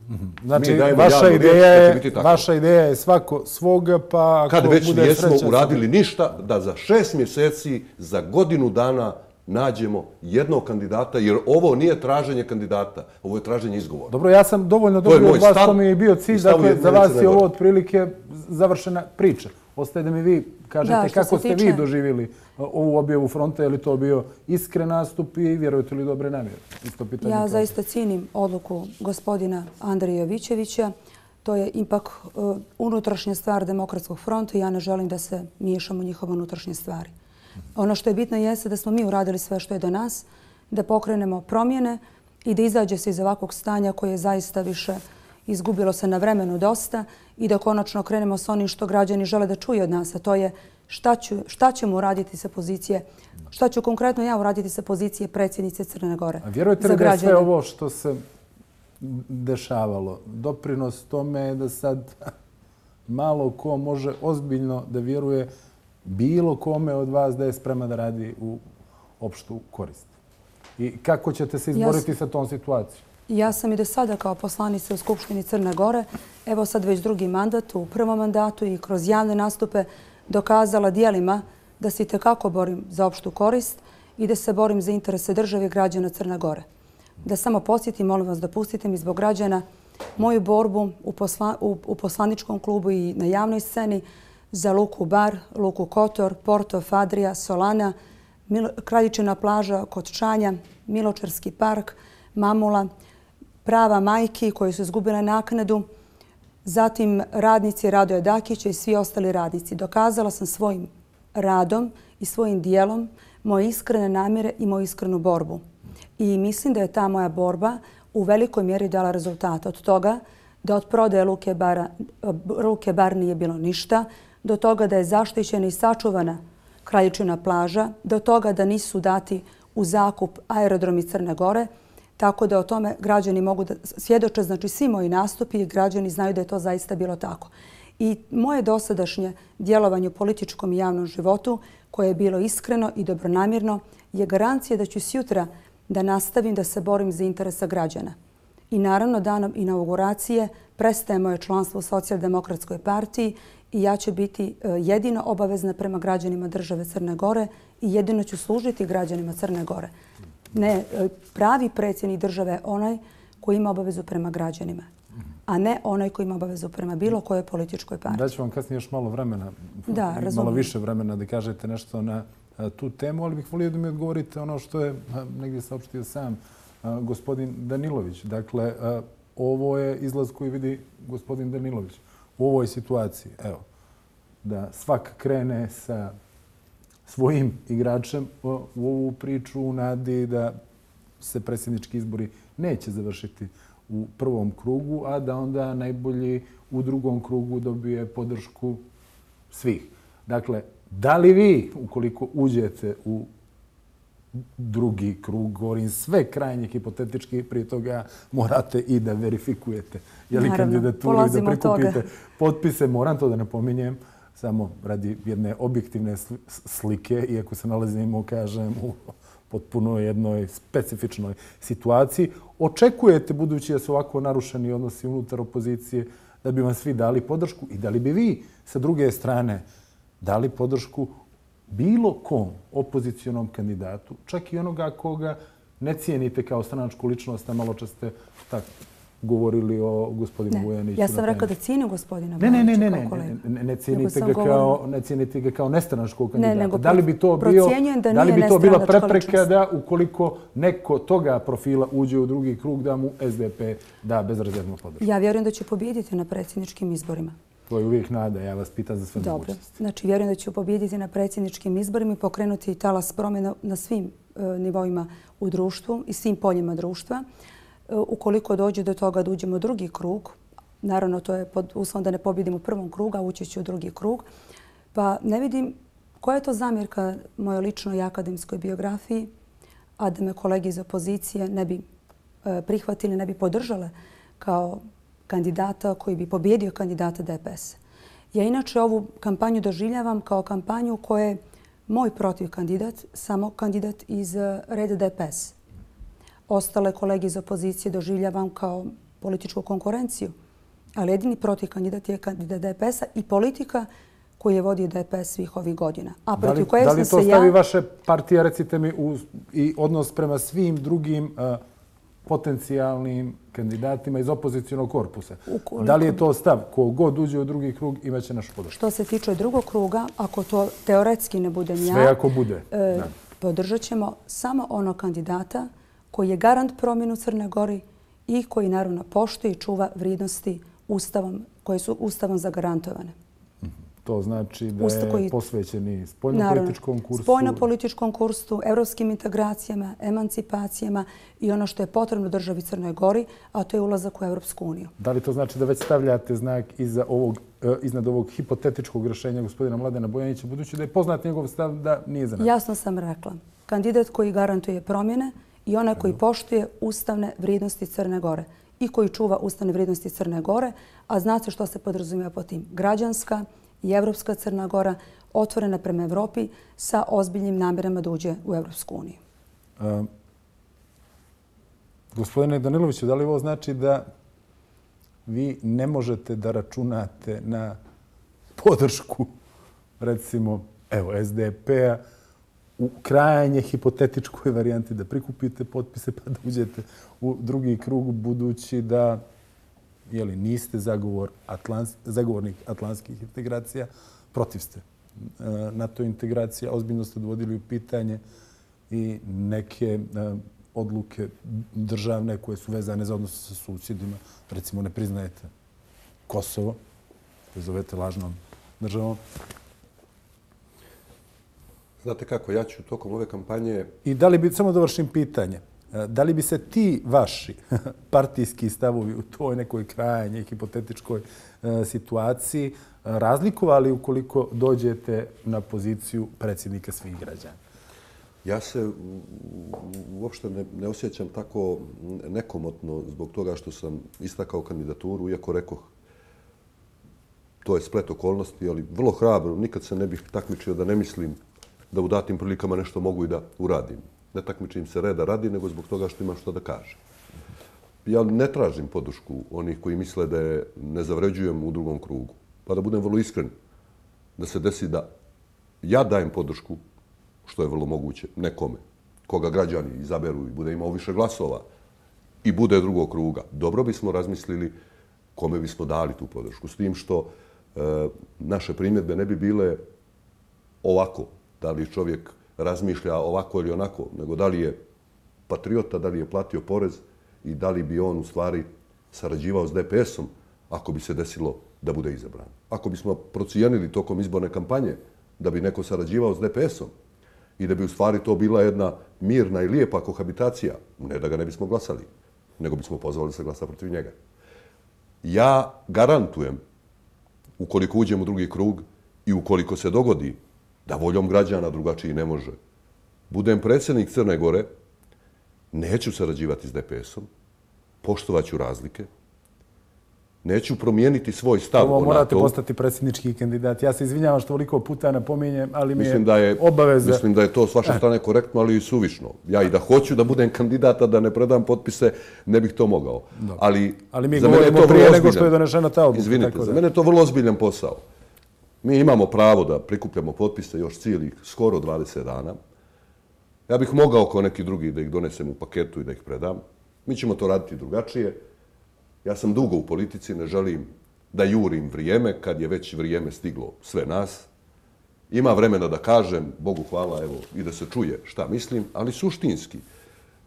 Znači, vaša ideja, je, vaša ideja je svako svoga, pa ako kad već bude nismo sreća, uradili ništa, da za šest mjeseci, za godinu dana nađemo jednog kandidata, jer ovo nije traženje kandidata, ovo je traženje izgovora. Dobro, ja sam dovoljno dobio od vas, to mi je bio cilj, dakle, za vas je ovo otprilike završena priča. Ostaje da mi vi kažete da, kako ste tiče... vi doživjeli ovu objavu fronta, je li to bio iskren nastup i vjerujete li dobre namjere? Ja kao. zaista cijenim odluku gospodina Andrija Jovićevića. To je ipak uh, unutrašnja stvar Demokratskog fronta i ja ne želim da se miješamo u njihove unutrašnje stvari. Ono što je bitno jeste da smo mi uradili sve što je do nas, da pokrenemo promjene i da izađe se iz ovakvog stanja koje je zaista više izgubilo se na vremenu dosta i da konačno krenemo s onim što građani žele da čuju od nas, a to je šta, ću, šta ćemo uraditi sa pozicije, šta ću konkretno ja uraditi sa pozicije predsjednice Crne Gore. A vjerujete li da je sve ovo što se dešavalo, doprinos tome je da sad malo ko može ozbiljno da vjeruje bilo kome od vas da je sprema da radi u opštu korist? I kako ćete se izboriti sa tom situacijom? Ja sam i do sada kao poslanica u Skupštini Crne Gore, evo sad već drugi mandat, u prvom mandatu i kroz javne nastupe dokazala dijelima da se itekako borim za opštu korist i da se borim za interese države i građana Crne Gore. Da samo podsjetim, molim vas, dopustite mi zbog građana moju borbu u, posla, u, u poslaničkom klubu i na javnoj sceni za Luku Bar, Luku Kotor, Porto, Fadrija, Solana, Milo, Kraljičina plaža kod Čanja, Miločarski park, Mamula, prava majki koji su izgubile naknadu, zatim radnici Radoja Dakića i svi ostali radnici. Dokazala sam svojim radom i svojim dijelom moje iskrene namjere i moju iskrenu borbu. I mislim da je ta moja borba u velikoj mjeri dala rezultata. Od toga da od prodaje Luke Bara, Luke Bar nije bilo ništa, do toga da je zaštićena i sačuvana Kraljičina plaža, do toga da nisu dati u zakup aerodromi Crne Gore, tako da o tome građani mogu da svjedoče, znači svi moji nastupi i građani znaju da je to zaista bilo tako. I moje dosadašnje djelovanje u političkom i javnom životu, koje je bilo iskreno i dobronamjerno, je garancija da ću sjutra da nastavim da se borim za interesa građana. I naravno, danom inauguracije prestaje moje članstvo u Socijaldemokratskoj partiji i ja ću biti jedino obavezna prema građanima države Crne Gore i jedino ću služiti građanima Crne Gore. Ne, pravi predsjednik države je onaj koji ima obavezu prema građanima, a ne onaj koji ima obavezu prema bilo kojoj političkoj partiji. Daću vam kasnije još malo vremena, da, malo više vremena da kažete nešto na tu temu, ali bih volio da mi odgovorite ono što je negdje saopštio sam gospodin Danilović. Dakle, ovo je izlaz koji vidi gospodin Danilović u ovoj situaciji. Evo, da svak krene sa svojim igračem u ovu priču u nadi da se predsjednički izbori neće završiti u prvom krugu, a da onda najbolji u drugom krugu dobije podršku svih. Dakle, da li vi, ukoliko uđete u drugi krug, govorim sve krajnje hipotetički, prije toga morate i da verifikujete je li kandidaturu i da prikupite potpise. Moram to da napominjem, samo radi jedne objektivne slike, iako se nalazimo, kažem, u potpuno jednoj specifičnoj situaciji. Očekujete, budući da su ovako narušeni odnosi unutar opozicije, da bi vam svi dali podršku i da li bi vi sa druge strane dali podršku bilo kom opozicionom kandidatu, čak i onoga koga ne cijenite kao stranačku ličnost, a malo čas ste tako govorili o gospodinu Vujaniću. Ja sam rekla da cijenim gospodina Vujanića. Ne, ne, ne, ne, ne cijenite ga kao, ne cijenite ga kao nestranačkog kandidata. Ne, nego da li bi to bio, da, da li bi to bila prepreka da ukoliko neko toga profila uđe u drugi krug, da mu S D P da bezrezervnu podršku? Ja vjerujem da će pobijediti na predsjedničkim izborima. To je uvijek nada, ja vas pitam za sve mogućnosti. Dobro, znači vjerujem da ću pobijediti na predsjedničkim izborima i pokrenuti talas promjena na svim nivoima u društvu i svim poljima društva. Ukoliko dođe do toga da uđemo u drugi krug, naravno to je pod uslovom da ne pobjedimo u prvom krugu, a ući ću u drugi krug, pa ne vidim koja je to zamjerka mojoj ličnoj i akademskoj biografiji, a da me kolege iz opozicije ne bi prihvatili, ne bi podržale kao kandidata koji bi pobjedio kandidata D P S. Ja inače ovu kampanju doživljavam kao kampanju u kojoj je moj protiv kandidat samo kandidat iz reda D P S. Ostale kolege iz opozicije doživljavam kao političku konkurenciju, ali jedini protiv kandidat je kandidat D P S-a i politika koju je vodio D P S svih ovih godina. A protiv koje sam se ja... Da li to stavi vaše partije, recite mi, i odnos prema svim drugim potencijalnim kandidatima iz opozicijonog korpusa? Da li je to stav? Ko god uđe u drugi krug imaće našu podršku. Što se tiče drugog kruga, ako to teoretski ne budem ja... Sve ako bude. Podržat ćemo samo onog kandidata koji je garant promjenu Crne Gori i koji naravno poštuje i čuva vrijednosti ustavom, koje su ustavom zagarantovane. To znači da je posvećen i spoljnopolitičkom kursu. Spoljnopolitičkom kursu, evropskim integracijama, emancipacijama i ono što je potrebno državi Crnoj Gori, a to je ulazak u Evropsku uniju. Da li to znači da već stavljate znak iza ovog, iznad ovog hipotetičkog rješenja gospodina Mladena Bojanića, budući da je poznat njegov stav da nije za nas? Jasno sam rekla. Kandidat koji garantuje promjene i onaj koji poštuje ustavne vrijednosti Crne Gore i koji čuva ustavne vrijednosti Crne Gore, a znate što se podrazumijeva po tim? Građanska i evropska Crna Gora otvorena prema Evropi sa ozbiljnim namjerama da uđe u Evropsku uniju. Um, gospodine Daniloviću, da li ovo znači da vi ne možete da računate na podršku, recimo, evo, es de pe-a u krajnje hipotetičkoj varijanti da prikupite potpise pa da uđete u drugi krug, budući da jeli, niste zagovor Atlans, zagovornik atlantskih integracija, protiv ste NATO integracija, ozbiljno ste dovodili u pitanje i neke odluke državne koje su vezane za odnose sa susjedima. Recimo, ne priznajete Kosovo, koje zovete lažnom državom. Znate kako, ja ću tokom ove kampanje... I da li bi, samo dovršim pitanje, da li bi se ti vaši partijski stavovi u toj nekoj krajnjoj hipotetičkoj situaciji razlikovali ukoliko dođete na poziciju predsjednika svih građana? Ja se uopšte ne, ne osjećam tako nekomotno zbog toga što sam istakao kandidaturu, iako rekoh to je splet okolnosti, ali vrlo hrabro, nikad se ne bih takmičio da ne mislim da u datim prilikama nešto mogu i da uradim. Ne takmičim se reda radi, nego zbog toga što imam što da kažem. Ja ne tražim podršku onih koji misle da je ne zavređujem u drugom krugu. Pa da budem vrlo iskren, da se desi da ja dajem podršku, što je vrlo moguće, nekome, koga građani izaberu i bude imao više glasova i bude drugog kruga. Dobro bismo razmislili kome bismo dali tu podršku. S tim što e, naše primjedbe ne bi bile ovako, da li čovjek razmišlja ovako ili onako, nego da li je patriota, da li je platio porez i da li bi on u stvari sarađivao s de pe esom ako bi se desilo da bude izabran. Ako bismo procijenili tokom izborne kampanje da bi neko sarađivao s de pe esom i da bi u stvari to bila jedna mirna i lijepa kohabitacija, ne da ga ne bismo glasali, nego bismo pozvali da se glasa protiv njega. Ja garantujem, ukoliko uđem u drugi krug i ukoliko se dogodi da voljom građana drugačiji ne može, budem predsjednik Crne Gore, neću sarađivati s de pe esom, poštovaću razlike, neću promijeniti svoj stav o NATO. Ovo morate NATO-u. postati predsjednički kandidat. Ja se izvinjavam što toliko puta napominjem, ali mi mislim je, da je obaveza... Mislim da je to s vaše strane korektno, ali i suvišno. Ja i da hoću da budem kandidata, da ne predam potpise, ne bih to mogao. Ali, ali mi za mene je govorimo to prije vrlo nego što je ozbiljan. donešena ta odluka. Izvinite, tako za da. mene je to vrlo ozbiljan posao. Mi imamo pravo da prikupljamo potpise još cijelih skoro dvadeset dana. Ja bih mogao kao neki drugi da ih donesem u paketu i da ih predam. Mi ćemo to raditi drugačije. Ja sam dugo u politici, ne želim da jurim vrijeme, kad je već vrijeme stiglo sve nas. Ima vremena da kažem, Bogu hvala, evo, i da se čuje šta mislim, ali suštinski.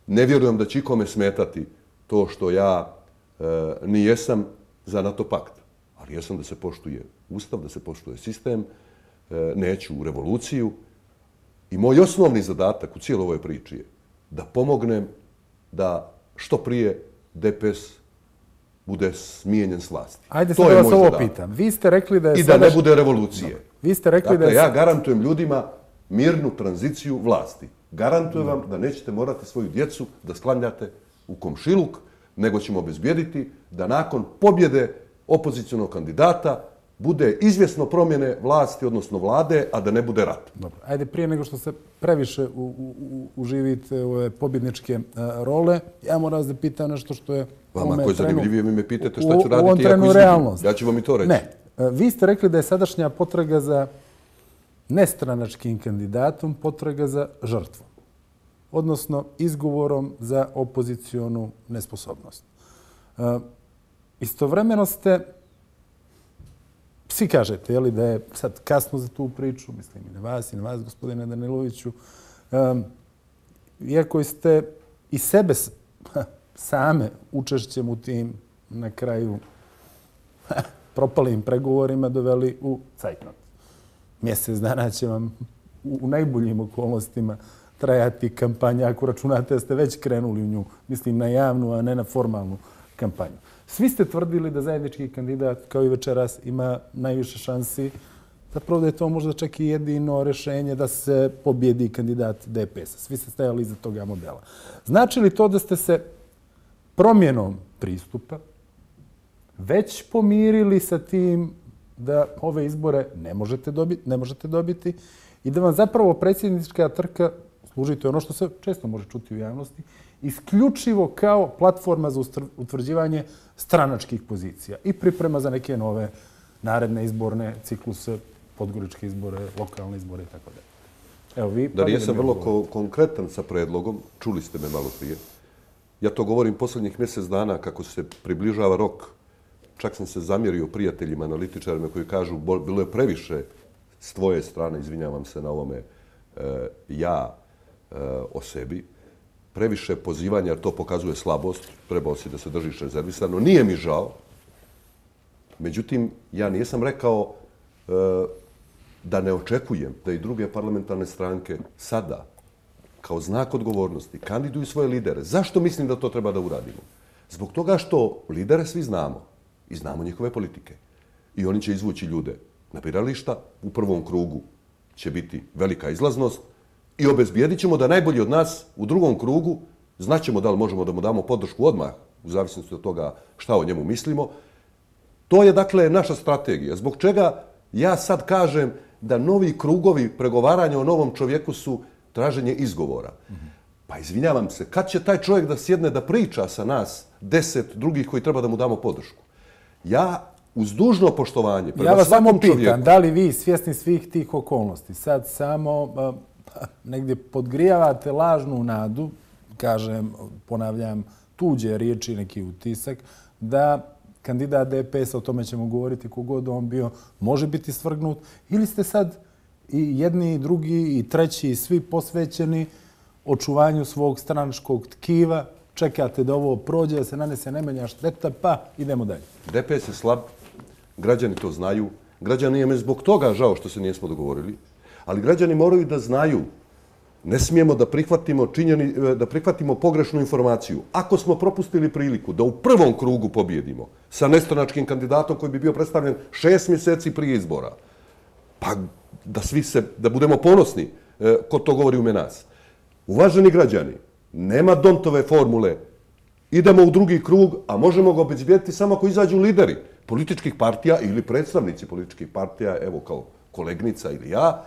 Ne vjerujem da će ikome smetati to što ja e, nijesam za NATO pakt. Ali jesam da se poštuje Ustav, da se poštuje sistem, e, neću u revoluciju. I moj osnovni zadatak u cijeloj ovoj priči je da pomognem da što prije de pe es bude smijenjen s vlasti. Ajde sad da vas ovo pitam. Vi ste rekli da je I da ne bude revolucije. No. Vi ste rekli dakle, da je... ja garantujem ljudima mirnu tranziciju vlasti. Garantujem no. vam da nećete morati svoju djecu da sklanjate u komšiluk, nego ćemo obezbijediti da nakon pobjede opozicionog kandidata bude izvjesno promjene vlasti, odnosno vlade, a da ne bude rat. Dobro. Ajde, prije nego što se previše u, u, uživite ove pobjedničke a, role, ja moram vas da pitam nešto što je... Vama ako je zanimljivije, mi me pitate šta ću raditi. U ovom trenu realnost. Ja ću vam i to reći. Ne. Vi ste rekli da je sadašnja potraga za nestranačkim kandidatom potraga za žrtvom. Odnosno, izgovorom za opozicionu nesposobnost. Istovremeno ste, svi kažete, jeli, da je sad kasno za tu priču, mislim i na vas i na vas, gospodine Daniloviću, iako ste i sebe same učešćem u tim na kraju propalim pregovorima doveli u cajtnot. mjesec dana će vam u najboljim okolnostima trajati kampanja, ako računate da ste već krenuli u nju, mislim na javnu, a ne na formalnu kampanju. Svi ste tvrdili da zajednički kandidat, kao i večeras, ima najviše šansi. Zapravo da je to možda čak i jedino rešenje da se pobjedi kandidat D P S-a. Svi ste stajali iza toga modela. Znači li to da ste se promjenom pristupa već pomirili sa tim da ove izbore ne možete dobiti, ne možete dobiti i da vam zapravo predsjednička trka služi, to je ono što se često može čuti u javnosti, isključivo kao platforma za utvrđivanje stranačkih pozicija i priprema za neke nove naredne izborne cikluse, podgoričke izbore, lokalne izbore i tako dalje. Evo vi... Da nisam vrlo ko konkretan sa predlogom, čuli ste me malo prije. Ja to govorim posljednjih mjesec dana kako se približava rok. Čak sam se zamjerio prijateljima, analitičarima koji kažu bilo je previše s tvoje strane, izvinjavam se na ovome, e, ja e, o sebi, previše pozivanja, jer to pokazuje slabost, trebao si da se držiš rezervisano. Nije mi žao. Međutim, ja nisam rekao e, da ne očekujem da i druge parlamentarne stranke sada, kao znak odgovornosti, kandiduju svoje lidere. Zašto mislim da to treba da uradimo? Zbog toga što lidere svi znamo i znamo njihove politike. I oni će izvući ljude na birališta. U prvom krugu će biti velika izlaznost i obezbijedit ćemo da najbolji od nas u drugom krugu znaćemo da li možemo da mu damo podršku odmah, u zavisnosti od toga šta o njemu mislimo. To je dakle naša strategija. Zbog čega ja sad kažem da novi krugovi pregovaranja o novom čovjeku su traženje izgovora. Pa izvinjavam se, kad će taj čovjek da sjedne da priča sa nas deset drugih koji treba da mu damo podršku? Ja, uz dužno poštovanje, prema ja vas svakom samo pitam, čovjeku... da li vi svjesni svih tih okolnosti sad samo a, a, negdje podgrijavate lažnu nadu, kažem, ponavljam, tuđe riječi, neki utisak, da kandidat D P S-a, o tome ćemo govoriti kogod on bio, može biti svrgnut, ili ste sad i jedni, i drugi, i treći, i svi posvećeni očuvanju svog stranačkog tkiva, čekate da ovo prođe, da se nanese najmanja šteta, pa idemo dalje. D P S je slab, građani to znaju, građani je me zbog toga žao što se nismo dogovorili, ali građani moraju da znaju, ne smijemo da prihvatimo, činjeni, da prihvatimo pogrešnu informaciju. Ako smo propustili priliku da u prvom krugu pobjedimo sa nestranačkim kandidatom koji bi bio predstavljen šest mjeseci prije izbora, pa da svi se, da budemo ponosni e, ko to govori ume nas. Uvaženi građani, nema Dontove formule. Idemo u drugi krug, a možemo ga obezbijediti samo ako izađu lideri političkih partija ili predstavnici političkih partija, evo kao kolegnica ili ja,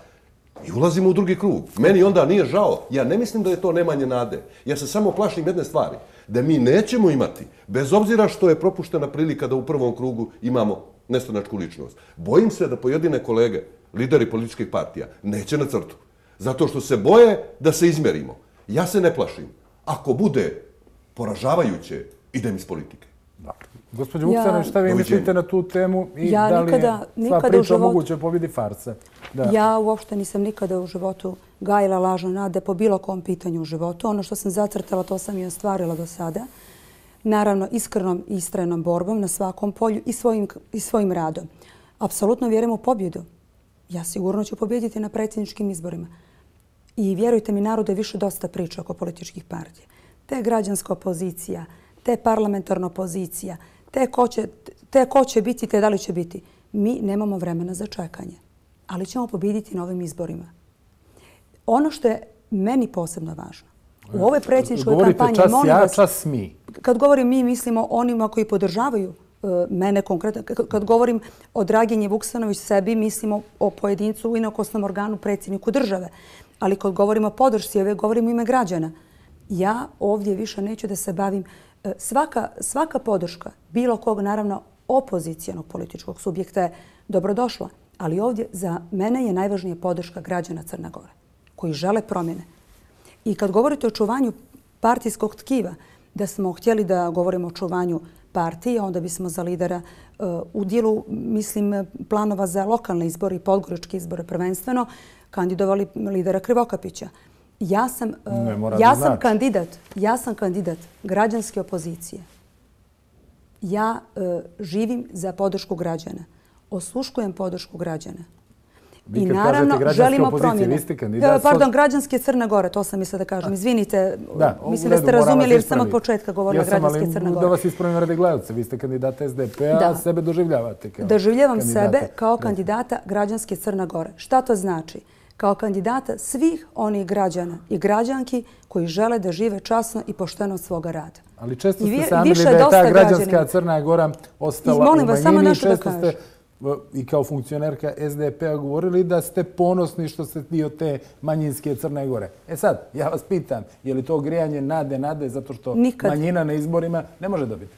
i ulazimo u drugi krug. Meni onda nije žao. Ja ne mislim da je to nemanje nade. Ja se samo plašim jedne stvari. Da mi nećemo imati, bez obzira što je propuštena prilika da u prvom krugu imamo nestranačku ličnost. Bojim se da pojedine kolege, lideri političkih partija, neće na crtu. Zato što se boje da se izmjerimo. Ja se ne plašim. Ako bude poražavajuće, idem iz politike. Gospođo Vuksanović, šta vi mislite na tu temu i ja da li nikada, je sva priča moguće pobjedi farsa? Da. Ja uopšte nisam nikada u životu gajila lažne nade po bilo kom pitanju u životu. Ono što sam zacrtala, to sam i ostvarila do sada. Naravno, iskrenom i istrajnom borbom na svakom polju i svojim, i svojim radom. Apsolutno vjerujem u pobjedu. Ja sigurno ću pobjediti na predsjedničkim izborima. I vjerujte mi, narod je više dosta priča oko političkih partija. Te građanska opozicija, te parlamentarna opozicija, te ko, će, te ko će biti, te da li će biti. Mi nemamo vremena za čekanje, ali ćemo pobjediti na ovim izborima. Ono što je meni posebno važno, u ovoj predsjedničkoj kampanji... Govorite čas molim ja, vas, čas mi. Kad govorim mi, mislimo onima koji podržavaju uh, mene konkretno. Kad govorim o Draginji Vuksanović sebi, mislimo o pojedincu u inokosnom organu predsjedniku države. Ali kad govorimo o podršci, ove govorim u ime građana. Ja ovdje više neću da se bavim. Svaka, svaka podrška bilo kog, naravno, opozicijanog političkog subjekta je dobrodošla. Ali ovdje za mene je najvažnija podrška građana Crne Gore, koji žele promjene. I kad govorite o čuvanju partijskog tkiva, da smo htjeli da govorimo o čuvanju partije, onda bismo za lidera uh, u dijelu, mislim, planova za lokalne izbore i podgoričke izbore prvenstveno, kandidovali lidera Krivokapića. Ja sam, uh, ja sam kandidat, ja sam kandidat građanske opozicije. Ja uh, živim za podršku građana. Osluškujem podršku građana. I naravno želimo promjene. Pardon, građanske Crne Gore, to sam mislila da kažem. Izvinite, mislim da ste razumjeli jer sam od početka govorila građanske Crne Gore. Da vas ispravim radi gledalca, vi ste kandidata S D P-a, a sebe doživljavate kao kandidata. Doživljavam sebe kao kandidata građanske Crne Gore. Šta to znači? Kao kandidata svih onih građana i građanki koji žele da žive časno i pošteno od svoga rada. Ali često ste sami da je ta građanska Crna Gora ostala u manjini. Često ste i kao funkcionerka S D P-a govorili da ste ponosni što ste dio te manjinske Crne Gore. E sad, ja vas pitam, je li to grijanje nade, nade, zato što manjina na izborima ne može dobiti?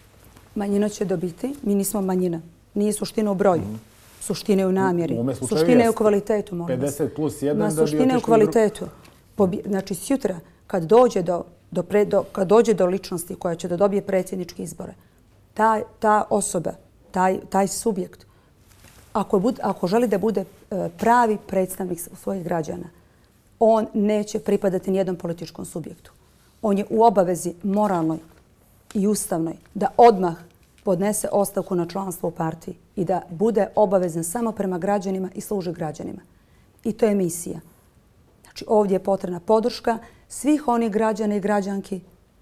Manjina će dobiti. Mi nismo manjina. Nije suština u broju. Suština je u namjeri. Suština je u kvalitetu. pedeset plus jedan da bi suština je u kvalitetu. Znači, sutra, kad dođe do, do, do, kad dođe do ličnosti koja će da dobije predsjedničke izbore, ta, ta osoba, taj, taj subjekt, ako, bud, ako želi da bude pravi predstavnik svojih građana, on neće pripadati nijednom političkom subjektu. On je u obavezi moralnoj i ustavnoj da odmah podnese ostavku na članstvo u partiji i da bude obavezan samo prema građanima i služi građanima. I to je misija. Znači, ovdje je potrebna podrška svih onih građana i građanki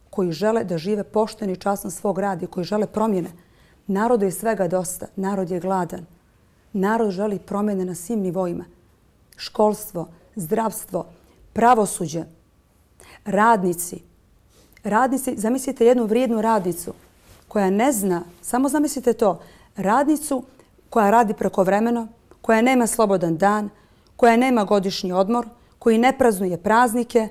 koji žele da žive pošteno i časno svog rada i koji žele promjene. Narodu je svega dosta. Narod je gladan. Narod želi promjene na svim nivoima. Školstvo, zdravstvo, pravosuđe, radnici. Radnici, zamislite jednu vrijednu radnicu koja ne zna, samo zamislite to, radnicu koja radi prekovremeno, koja nema slobodan dan, koja nema godišnji odmor, koji ne praznuje praznike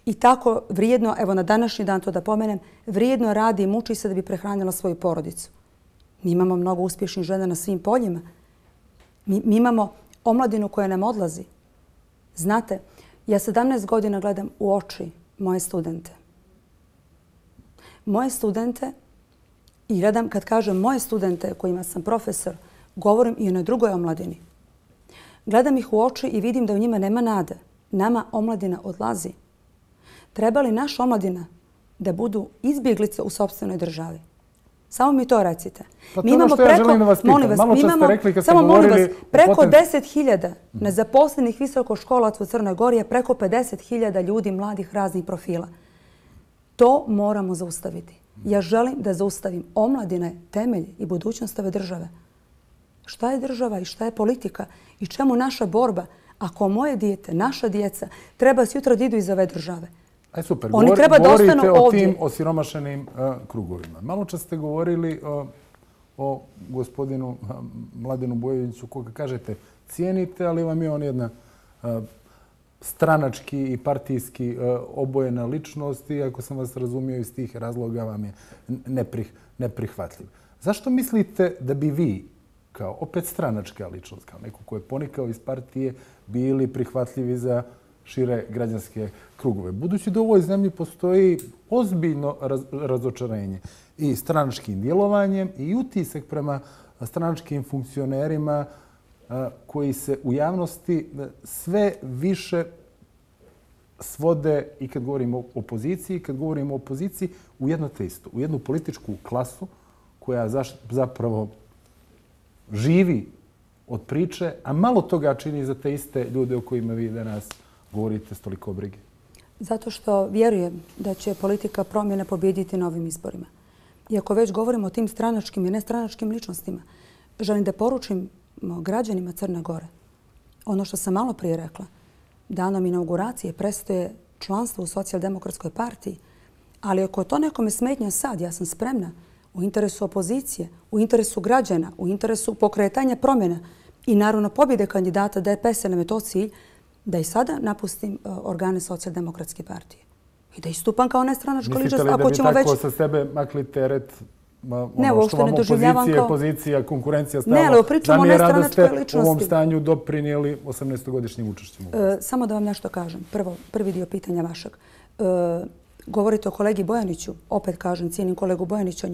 i tako vrijedno, evo na današnji dan to da pomenem, vrijedno radi i muči se da bi prehranila svoju porodicu. Mi imamo mnogo uspješnih žena na svim poljima. Mi, mi imamo omladinu koja nam odlazi. Znate, ja sedamnaest godina gledam u oči moje studente. Moje studente i gledam, kad kažem moje studente kojima sam profesor, govorim i o na drugoj omladini. Gledam ih u oči i vidim da u njima nema nade. Nama omladina odlazi. Treba li naša omladina da budu izbjeglice u sopstvenoj državi? Samo mi to recite. Pa mi imamo preko, ja želim da vas pitam. Molim vas, Malo čas ste rekli kad ste govorili... Vas, preko poten... deset hiljada nezaposlenih visokoškolaca u Crnoj Gori je preko pedeset hiljada ljudi mladih raznih profila. To moramo zaustaviti. Ja želim da zaustavim. Omladina je temelj i budućnost ove države. Šta je država i šta je politika i čemu naša borba ako moje dijete, naša djeca treba sutra da idu iz ove države? Aj super, Oni Govor, treba da ostanu ovdje. Govorite o tim osiromašenim uh, krugovima. Malo čas ste govorili uh, o gospodinu uh, Mladenu Bojoviću, koga kažete cijenite, ali vam je on jedna uh, stranački i partijski uh, obojena ličnost i ako sam vas razumio iz tih razloga vam je neprih, neprihvatljiv. Zašto mislite da bi vi kao opet stranačka ličnost, kao neko ko je ponikao iz partije, bili prihvatljivi za šire građanske krugove? Budući da u ovoj zemlji postoji ozbiljno raz, razočarenje i stranačkim djelovanjem i utisak prema stranačkim funkcionerima a, koji se u javnosti sve više svode i kad govorimo o opoziciji, i kad govorimo o opoziciji u jedno te isto, u jednu političku klasu koja zaš, zapravo živi od priče, a malo toga čini za te iste ljude o kojima vi danas govorite s toliko brige. Zato što vjerujem da će politika promjene pobijediti na ovim izborima. I ako već govorimo o tim stranačkim i nestranačkim ličnostima, želim da poručim građanima Crne Gore ono što sam malo prije rekla. Danom inauguracije prestaje članstvo u Socijaldemokratskoj partiji, ali ako to nekome smetnja sad, ja sam spremna u interesu opozicije, u interesu građana, u interesu pokretanja promjena i naravno pobjede kandidata D P S-a nam je to cilj, da i sada napustim organe Socijaldemokratske partije. I da istupam kao nestranačka ličnost. Mislite li da bi tako sa sebe makli teret ono što vam opozicija, opozicija, konkurencija stala zamjera da ste u ovom stanju doprinijeli osamnaestogodišnjim učešćem? Samo da vam nešto kažem. Prvo, prvi dio pitanja vašeg. Govorite o kolegi Bojaniću. Opet kažem, cijenim kolegu Bojanića.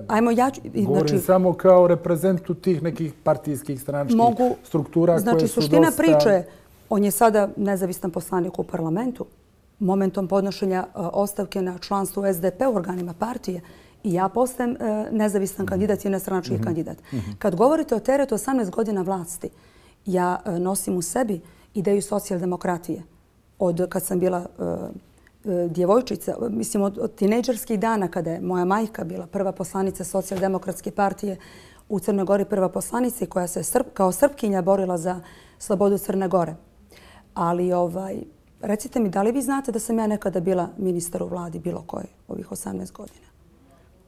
Ajmo ja ću... Govorim samo kao reprezentu tih nekih partijskih stranačkih struktura koje su dosta... Znači, suština priče je, on je sada nezavistan poslanik u parlamentu. Momentom podnošenja ostavke na članstvu S D P u organima partije i ja postajem nezavisan kandidat i nestranački kandidat. Kad govorite o teretu osamnaest godina vlasti Ja nosim u sebi ideju socijaldemokratije. Od kad sam bila djevojčica, mislim od tinejdžerskih dana kada je moja majka bila prva poslanica Socijaldemokratske partije u Crnoj Gori, prva poslanica koja se kao Srpkinja borila za slobodu Crne Gore. Ali ovaj, recite mi, da li vi znate da sam ja nekada bila ministar u vladi bilo koje ovih osamnaest godina?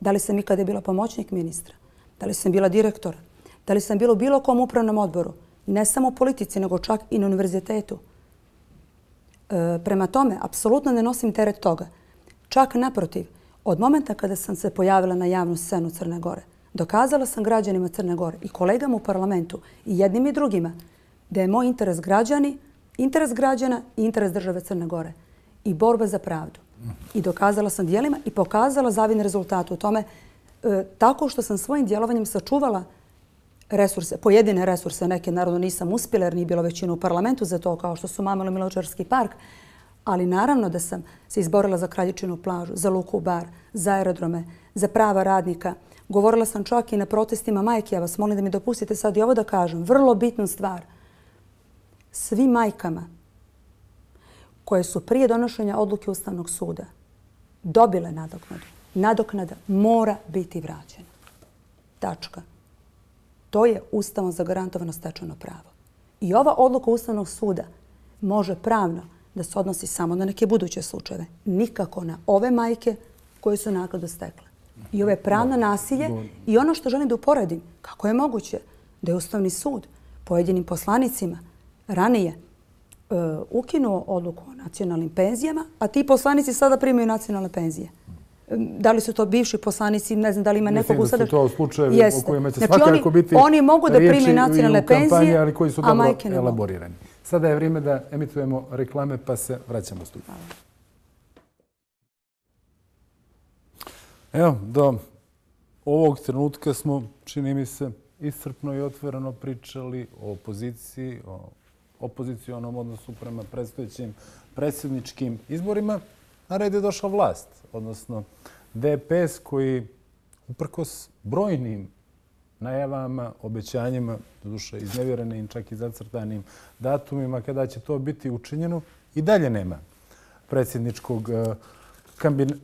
Da li sam ikada bila pomoćnik ministra? Da li sam bila direktor? Da li sam bila u bilo kom upravnom odboru? Ne samo u politici, nego čak i na univerzitetu. E, prema tome, apsolutno ne nosim teret toga. Čak naprotiv, od momenta kada sam se pojavila na javnu scenu Crne Gore, dokazala sam građanima Crne Gore i kolegama u parlamentu i jednim i drugima da je moj interes građani, interes građana i interes države Crne Gore i borba za pravdu. I dokazala sam dijelima i pokazala zavidne rezultate u tome e, tako što sam svojim djelovanjem sačuvala resurse, pojedine resurse, neke naravno nisam uspjela jer nije bilo većina u parlamentu za to, kao što su Mamilo Miločarski park, ali naravno da sam se izborila za Kraljičinu plažu, za Luku Bar, za aerodrome, za prava radnika. Govorila sam čak i na protestima majke. Ja vas molim da mi dopustite sad i ovo da kažem. Vrlo bitnu stvar. Svim majkama koje su prije donošenja odluke Ustavnog suda dobile nadoknadu, nadoknada mora biti vraćena. Tačka. To je Ustavom zagarantovano stečeno pravo. I ova odluka Ustavnog suda može pravno da se odnosi samo na neke buduće slučajeve. Nikako na ove majke koje su naknadu stekle. I ovo je pravno nasilje. I ono što želim da uporedim, kako je moguće da je Ustavni sud pojedinim poslanicima ranije uh, ukinuo odluku o nacionalnim penzijama, a ti poslanici sada primaju nacionalne penzije. Da li su to bivši poslanici, ne znam da li ima nekog u sada... Mislim da su to slučajevi o kojima će znači, svakako biti oni mogu da primaju nacionalne kampanji, penzije, ali koji su a dobro majke ne mogu. elaborirani. Sada je vrijeme da emitujemo reklame, pa se vraćamo u studiju. Evo, do ovog trenutka smo, čini mi se, iscrpno i otvoreno pričali o opoziciji, o opozicionom odnosu prema predstojećim predsjedničkim izborima. Na red je došla vlast, odnosno D P S koji uprkos brojnim najavama, obećanjima, doduše iznevjerenim, čak i zacrtanim datumima kada će to biti učinjeno, i dalje nema predsjedničkog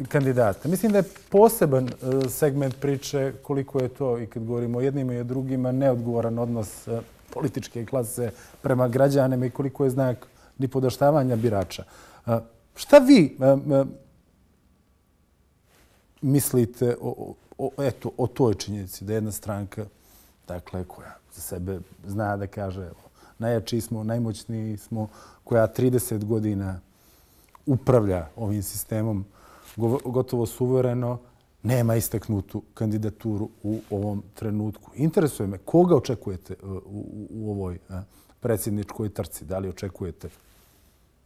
kandidata. Mislim da je poseban segment priče koliko je to, i kad govorimo o jednima i o drugima, neodgovoran odnos političke klase prema građanima i koliko je znak nipodaštavanja birača. Šta vi mislite o, o, eto, o toj činjenici da jedna stranka, dakle, koja za sebe zna da kaže najjači smo, najmoćniji smo, koja trideset godina upravlja ovim sistemom gotovo suvereno, nema istaknutu kandidaturu u ovom trenutku. Interesuje me koga očekujete u, u, u ovoj predsjedničkoj trci. Da li očekujete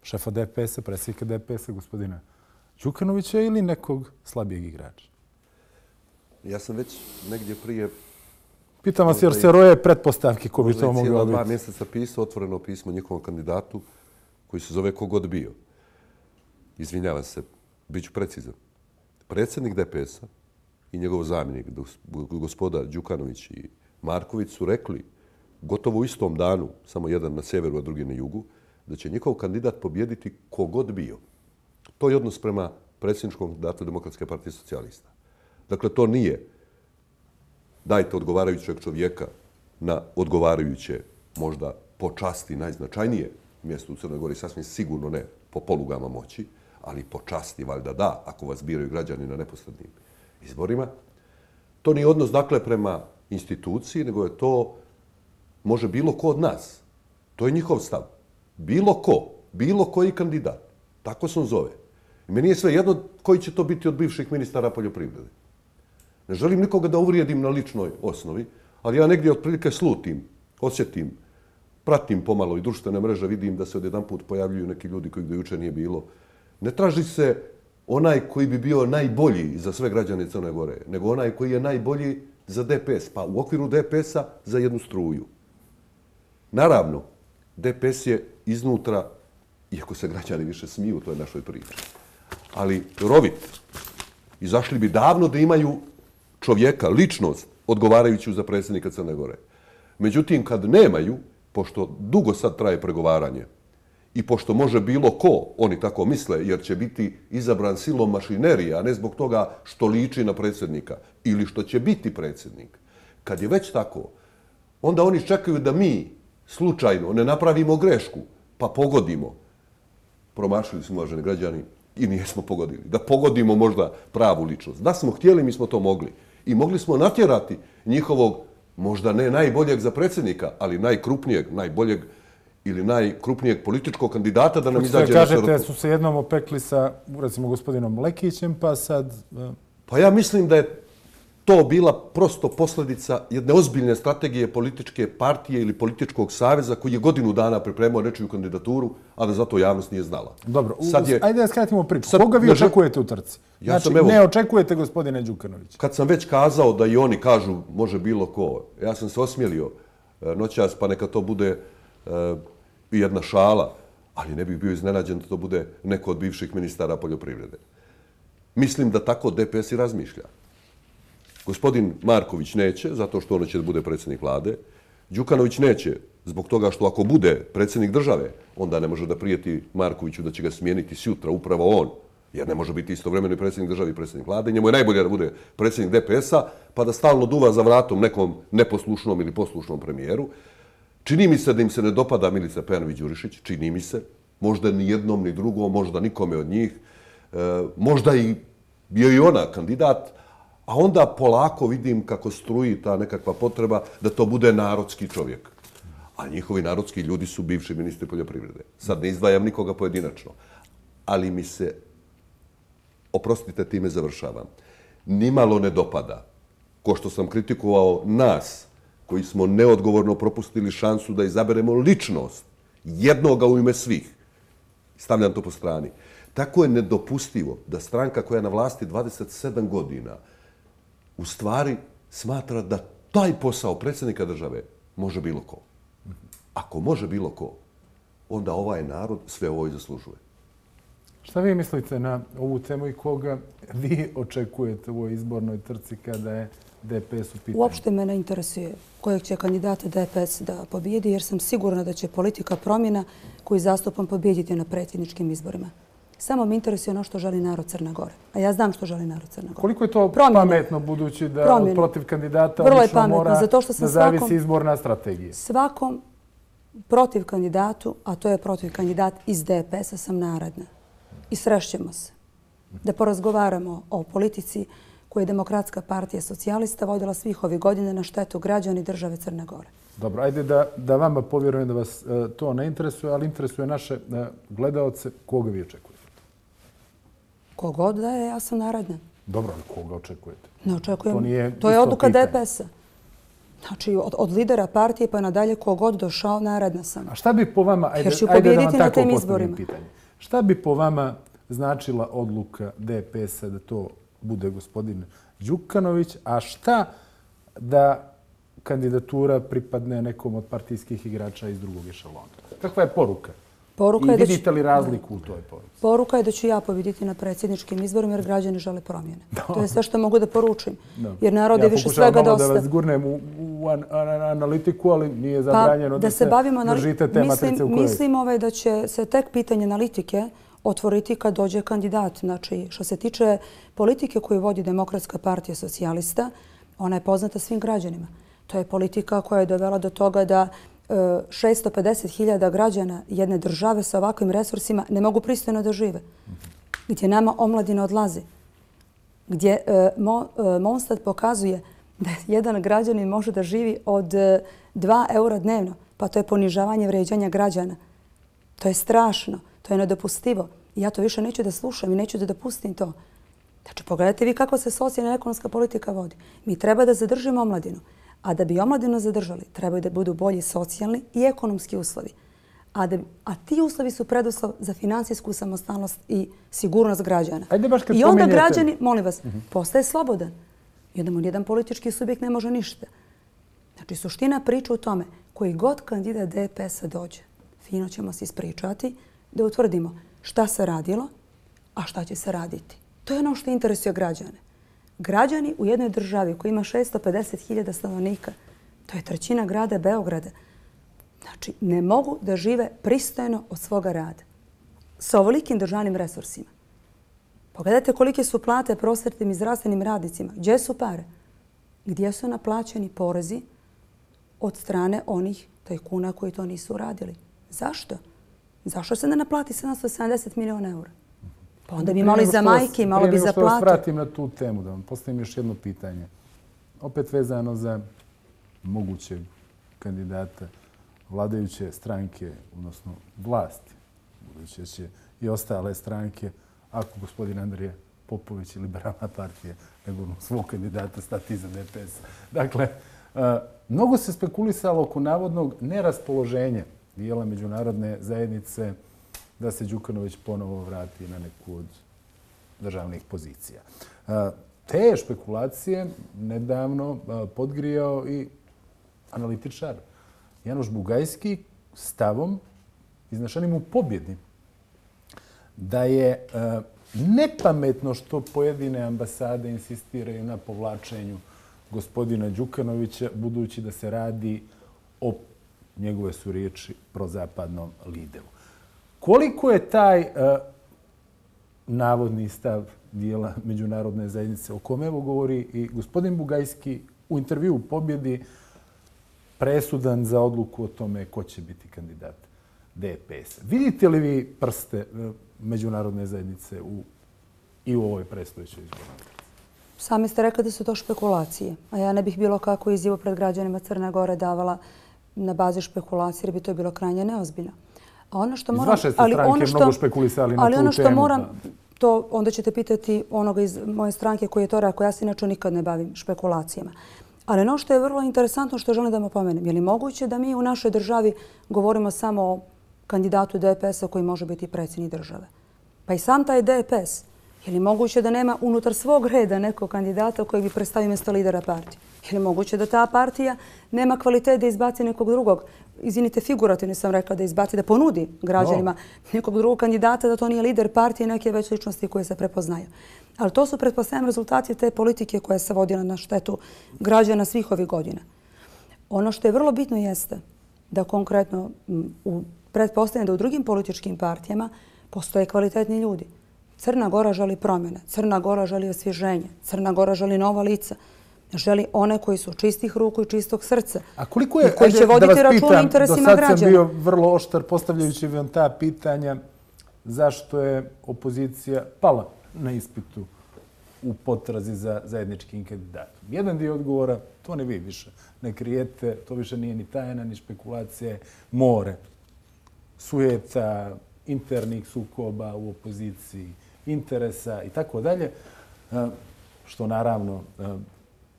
šefa D P S-a, predsjednika D P S-a, gospodina Đukanovića ili nekog slabijeg igrača? Ja sam već negdje prije... Pitam vas jer se roje pretpostavke ko bi to moglo biti. Možda je cijela dva mjeseca pisao otvoreno pismo njihovom kandidatu koji se zove Kogod bio. Izvinjavam se, bit ću precizan. Predsjednik D P S-a i njegov zamjenik, gospoda Đukanović i Marković, su rekli gotovo u istom danu, samo jedan na sjeveru, a drugi na jugu, da će njihov kandidat pobjediti kogod bio. To je odnos prema predsjedničkom kandidatu Demokratske partije socijalista. Dakle, to nije dajte odgovarajućeg čovjeka na odgovarajuće, možda po časti najznačajnije mjesto u Crnoj Gori, sasvim sigurno ne po polugama moći, ali po časti valjda da, ako vas biraju građani na neposrednim izborima. To nije odnos, dakle, prema instituciji, nego je to, može bilo ko od nas. To je njihov stav. Bilo ko, bilo koji kandidat. Tako se on zove. I meni je sve jedno koji će to biti od bivših ministara poljoprivrede. Ne želim nikoga da uvrijedim na ličnoj osnovi, ali ja negdje otprilike slutim, osjetim, pratim pomalo i društvene mreže, vidim da se odjedanput pojavljuju neki ljudi kojih do juče nije bilo. Ne traži se onaj koji bi bio najbolji za sve građane Crne Gore, nego onaj koji je najbolji za D P S, pa u okviru D P S-a za jednu struju. Naravno, D P S je iznutra, iako se građani više smiju u toj našoj priči, ali rovit. Izašli bi davno da imaju čovjeka, ličnost, odgovarajuću za predsjednika Crne Gore. Međutim, kad nemaju pošto dugo sad traje pregovaranje i pošto može bilo ko, oni tako misle, jer će biti izabran silom mašinerije, a ne zbog toga što liči na predsjednika ili što će biti predsjednik. Kad je već tako, onda oni čekaju da mi slučajno ne napravimo grešku, pa pogodimo. Promašili smo, uvaženi građani, i nijesmo pogodili. Da pogodimo možda pravu ličnost. Da smo htjeli, mi smo to mogli. I mogli smo natjerati njihovog, možda ne najboljeg za predsjednika, ali najkrupnijeg, najboljeg ili najkrupnijeg političkog kandidata da nam izađe na široko. Kažete, su se jednom opekli sa, recimo, gospodinom Lekićem, pa sad... Pa ja mislim da je to bila prosto posljedica jedne ozbiljne strategije političke partije ili političkog saveza koji je godinu dana pripremao nečiju kandidaturu, a da zato javnost nije znala. Dobro, je, ajde da skratimo priču. Sad, Koga vi očekujete u trci? Ja znači, evo, ne očekujete gospodine Đukanovića. Kad sam već kazao da i oni kažu može bilo ko, ja sam se osmijelio noćas, pa neka to bude uh, jedna šala, ali ne bih bio iznenađen da to bude neko od bivših ministara poljoprivrede. Mislim da tako D P S i razmišlja. Gospodin Marković neće, zato što ono će da bude predsjednik vlade. Đukanović neće, zbog toga što ako bude predsjednik države, onda ne može da prijeti Markoviću da će ga smijeniti sjutra, upravo on, jer ne može biti istovremeno i predsjednik države i predsjednik vlade. Njemu je najbolje da bude predsjednik D P S-a, pa da stalno duva za vratom nekom neposlušnom ili poslušnom premijeru. Čini mi se da im se ne dopada Milica Pejanović-Đurišić, čini mi se. Možda ni jednom, ni drugom, možda nikome od njih. E, možda i je i ona kandidat, a onda polako vidim kako struji ta nekakva potreba da to bude narodski čovjek. A njihovi narodski ljudi su bivši ministri poljoprivrede. Sad ne izdvajam nikoga pojedinačno. Ali mi se, oprostite, time završavam, nimalo ne dopada, ko što sam kritikovao nas, koji smo neodgovorno propustili šansu da izaberemo ličnost jednoga u ime svih. Stavljam to po strani. Tako je nedopustivo da stranka koja je na vlasti dvadeset sedam godina u stvari smatra da taj posao predsjednika države može bilo ko. Ako može bilo ko, onda ovaj narod sve ovo i zaslužuje. Šta vi mislite na ovu temu i koga vi očekujete u ovoj izbornoj trci kada je D P S u pitanju? Uopšte me ne interesuje kojeg će kandidata D P S da pobijedi, jer sam sigurna da će politika promjena koju zastupam pobijediti na predsjedničkim izborima. Samo me interesuje ono što želi narod Crne Gore. A ja znam što želi narod Crne Gore. Koliko je to Promjene. pametno, budući da Promjene. protiv kandidata Vrlo lično pametno, mora zato što da zavisi svakom, izborna strategija? Svakom protiv kandidatu, a to je protiv kandidat iz D P S-a, sam naredna. I srešćemo se. Da porazgovaramo o politici koju je Demokratska partija socijalista vodila svih ovih godina na štetu građana i države Crne Gore. Dobro, ajde da, da vama povjerujem da vas uh, to ne interesuje, ali interesuje naše uh, gledaoce. Koga vi očekujete? Kogod da je, ja sam naredna. Dobro, ali koga očekujete? Ne očekujem. To, nije to je odluka pitanje. D P S-a. Znači, od, od lidera partije pa nadalje kogod došao, naredna sam. A šta bi po vama, ajde, ajde da vam tako postavim pitanje. Šta bi po vama značila odluka D P S-a da to bude gospodin Đukanović, a šta da kandidatura pripadne nekom od partijskih igrača iz drugog ešalona? Kakva je poruka? Poruka I je da vidite li razliku u toj poruci? Poruka je da ću ja pobjediti na predsjedničkim izborima jer građani žele promjene. No. To je sve što mogu da poručim. No. Jer narod je ja više svega dosta. Ja pokušavam malo da vas gurnem u, u an, an, analitiku, ali nije zabranjeno pa, da, da se bavimo držite te mislim, matrice u kojoj. Mislim ovaj da će se tek pitanje analitike otvoriti kad dođe kandidat. Znači, što se tiče politike koju vodi Demokratska partija socijalista, ona je poznata svim građanima. To je politika koja je dovela do toga da šesto pedeset hiljada građana jedne države sa ovakvim resursima ne mogu pristojno da žive. Gdje nama omladina odlazi. Gdje Monstat pokazuje da jedan građanin može da živi od dva eura dnevno. Pa to je ponižavanje vređanja građana. To je strašno. To je nedopustivo. I ja to više neću da slušam i neću da dopustim to. Znači, pogledajte vi kako se socijalna i ekonomska politika vodi. Mi treba da zadržimo omladinu. A da bi omladinu zadržali, trebaju da budu bolji socijalni i ekonomski uslovi. A, da, a ti uslovi su preduslov za finansijsku samostalnost i sigurnost građana. Ajde baš kad I onda pomenjete... građani, molim vas, uh-huh. postaje slobodan. Jedan, jedan politički subjekt ne može ništa. Znači, suština priča u tome, koji god kandidat D P S-a dođe, fino ćemo se ispričati da utvrdimo šta se radilo, a šta će se raditi. To je ono što interesuje građane. Građani u jednoj državi koja ima šesto pedeset hiljada stanovnika, to je trećina grada Beograda. Znači, ne mogu da žive pristojno od svoga rada. Sa ovolikim državnim resursima. Pogledajte kolike su plate prosvetnim i zdravstvenim radnicima. Gdje su pare? Gdje su naplaćeni porezi od strane onih tajkuna koji to nisu uradili? Zašto? Zašto se ne naplati sedamsto sedamdeset miliona eura? Pa onda bi imali za majke, malo bi za plate. Prije nego što vas vratim na tu temu, da vam postavim još jedno pitanje. Opet vezano za mogućeg kandidata vladajuće stranke, odnosno vlasti, buduće će i ostale stranke, ako gospodin Andrija Popović i Liberalna partija nego svog kandidata stati iza D P S. Dakle, mnogo se spekulisalo oko navodnog neraspoloženja dijela međunarodne zajednice da se Đukanović ponovo vrati na neku od državnih pozicija. Te špekulacije nedavno podgrijao i analitičar Janoš Bugajski stavom iznešenim u pobjedi da je nepametno što pojedine ambasade insistiraju na povlačenju gospodina Đukanovića, budući da se radi o, njegove su riječi, prozapadnom lideru. Koliko je taj uh, navodni stav dijela međunarodne zajednice, o kome evo govori i gospodin Bugajski u intervju u pobjedi, presudan za odluku o tome ko će biti kandidat D P S. Vidite li vi prste uh, međunarodne zajednice u, i u ovoj predstojećoj izbornoj? Sami ste rekli da su to špekulacije, a ja ne bih bilo kako izjavu pred građanima Crne Gore davala na bazi špekulacije, jer bi to bilo krajnje neozbiljno. A ono što moram, iz vaše stranke ono što, mnogo špekulisali na ali tu ono što temu. Moram, to onda ćete pitati onoga iz moje stranke koji je to rekao. Ja se inače nikad ne bavim špekulacijama. Ali ono što je vrlo interesantno što želim da vam pomenem, je li moguće da mi u našoj državi govorimo samo o kandidatu D P S-a koji može biti predsjednik države? Pa i sam taj D P S, je li moguće da nema unutar svog reda nekog kandidata koji bi predstavio mjesto lidera partije? Je li moguće da ta partija nema kvalitet da izbaci nekog drugog? Izvinite, figurativno sam rekla da izbaci, da ponudi građanima nekog drugog kandidata, da to nije lider partije, neke već ličnosti koje se prepoznaju. Ali to su, pretpostavljam, rezultati te politike koja se vodila na štetu građana svih ovih godina. Ono što je vrlo bitno jeste da konkretno u pretpostavljam da u drugim političkim partijama postoje kvalitetni ljudi. Crna Gora želi promjene, Crna Gora želi osvježenje, Crna Gora želi nova lica, želi one koji su čistih ruku i čistog srca. A koliko je, koji će voditi račun o interesima građana? Do sad sam bio vrlo oštar postavljajući vam ta pitanja zašto je opozicija pala na ispitu u potrazi za zajedničkim kandidatom. Jedan dio odgovora, to ne vi više ne krijete, to više nije ni tajna, ni špekulacije, more, sujeta, internih sukoba u opoziciji, interesa i tako dalje, što naravno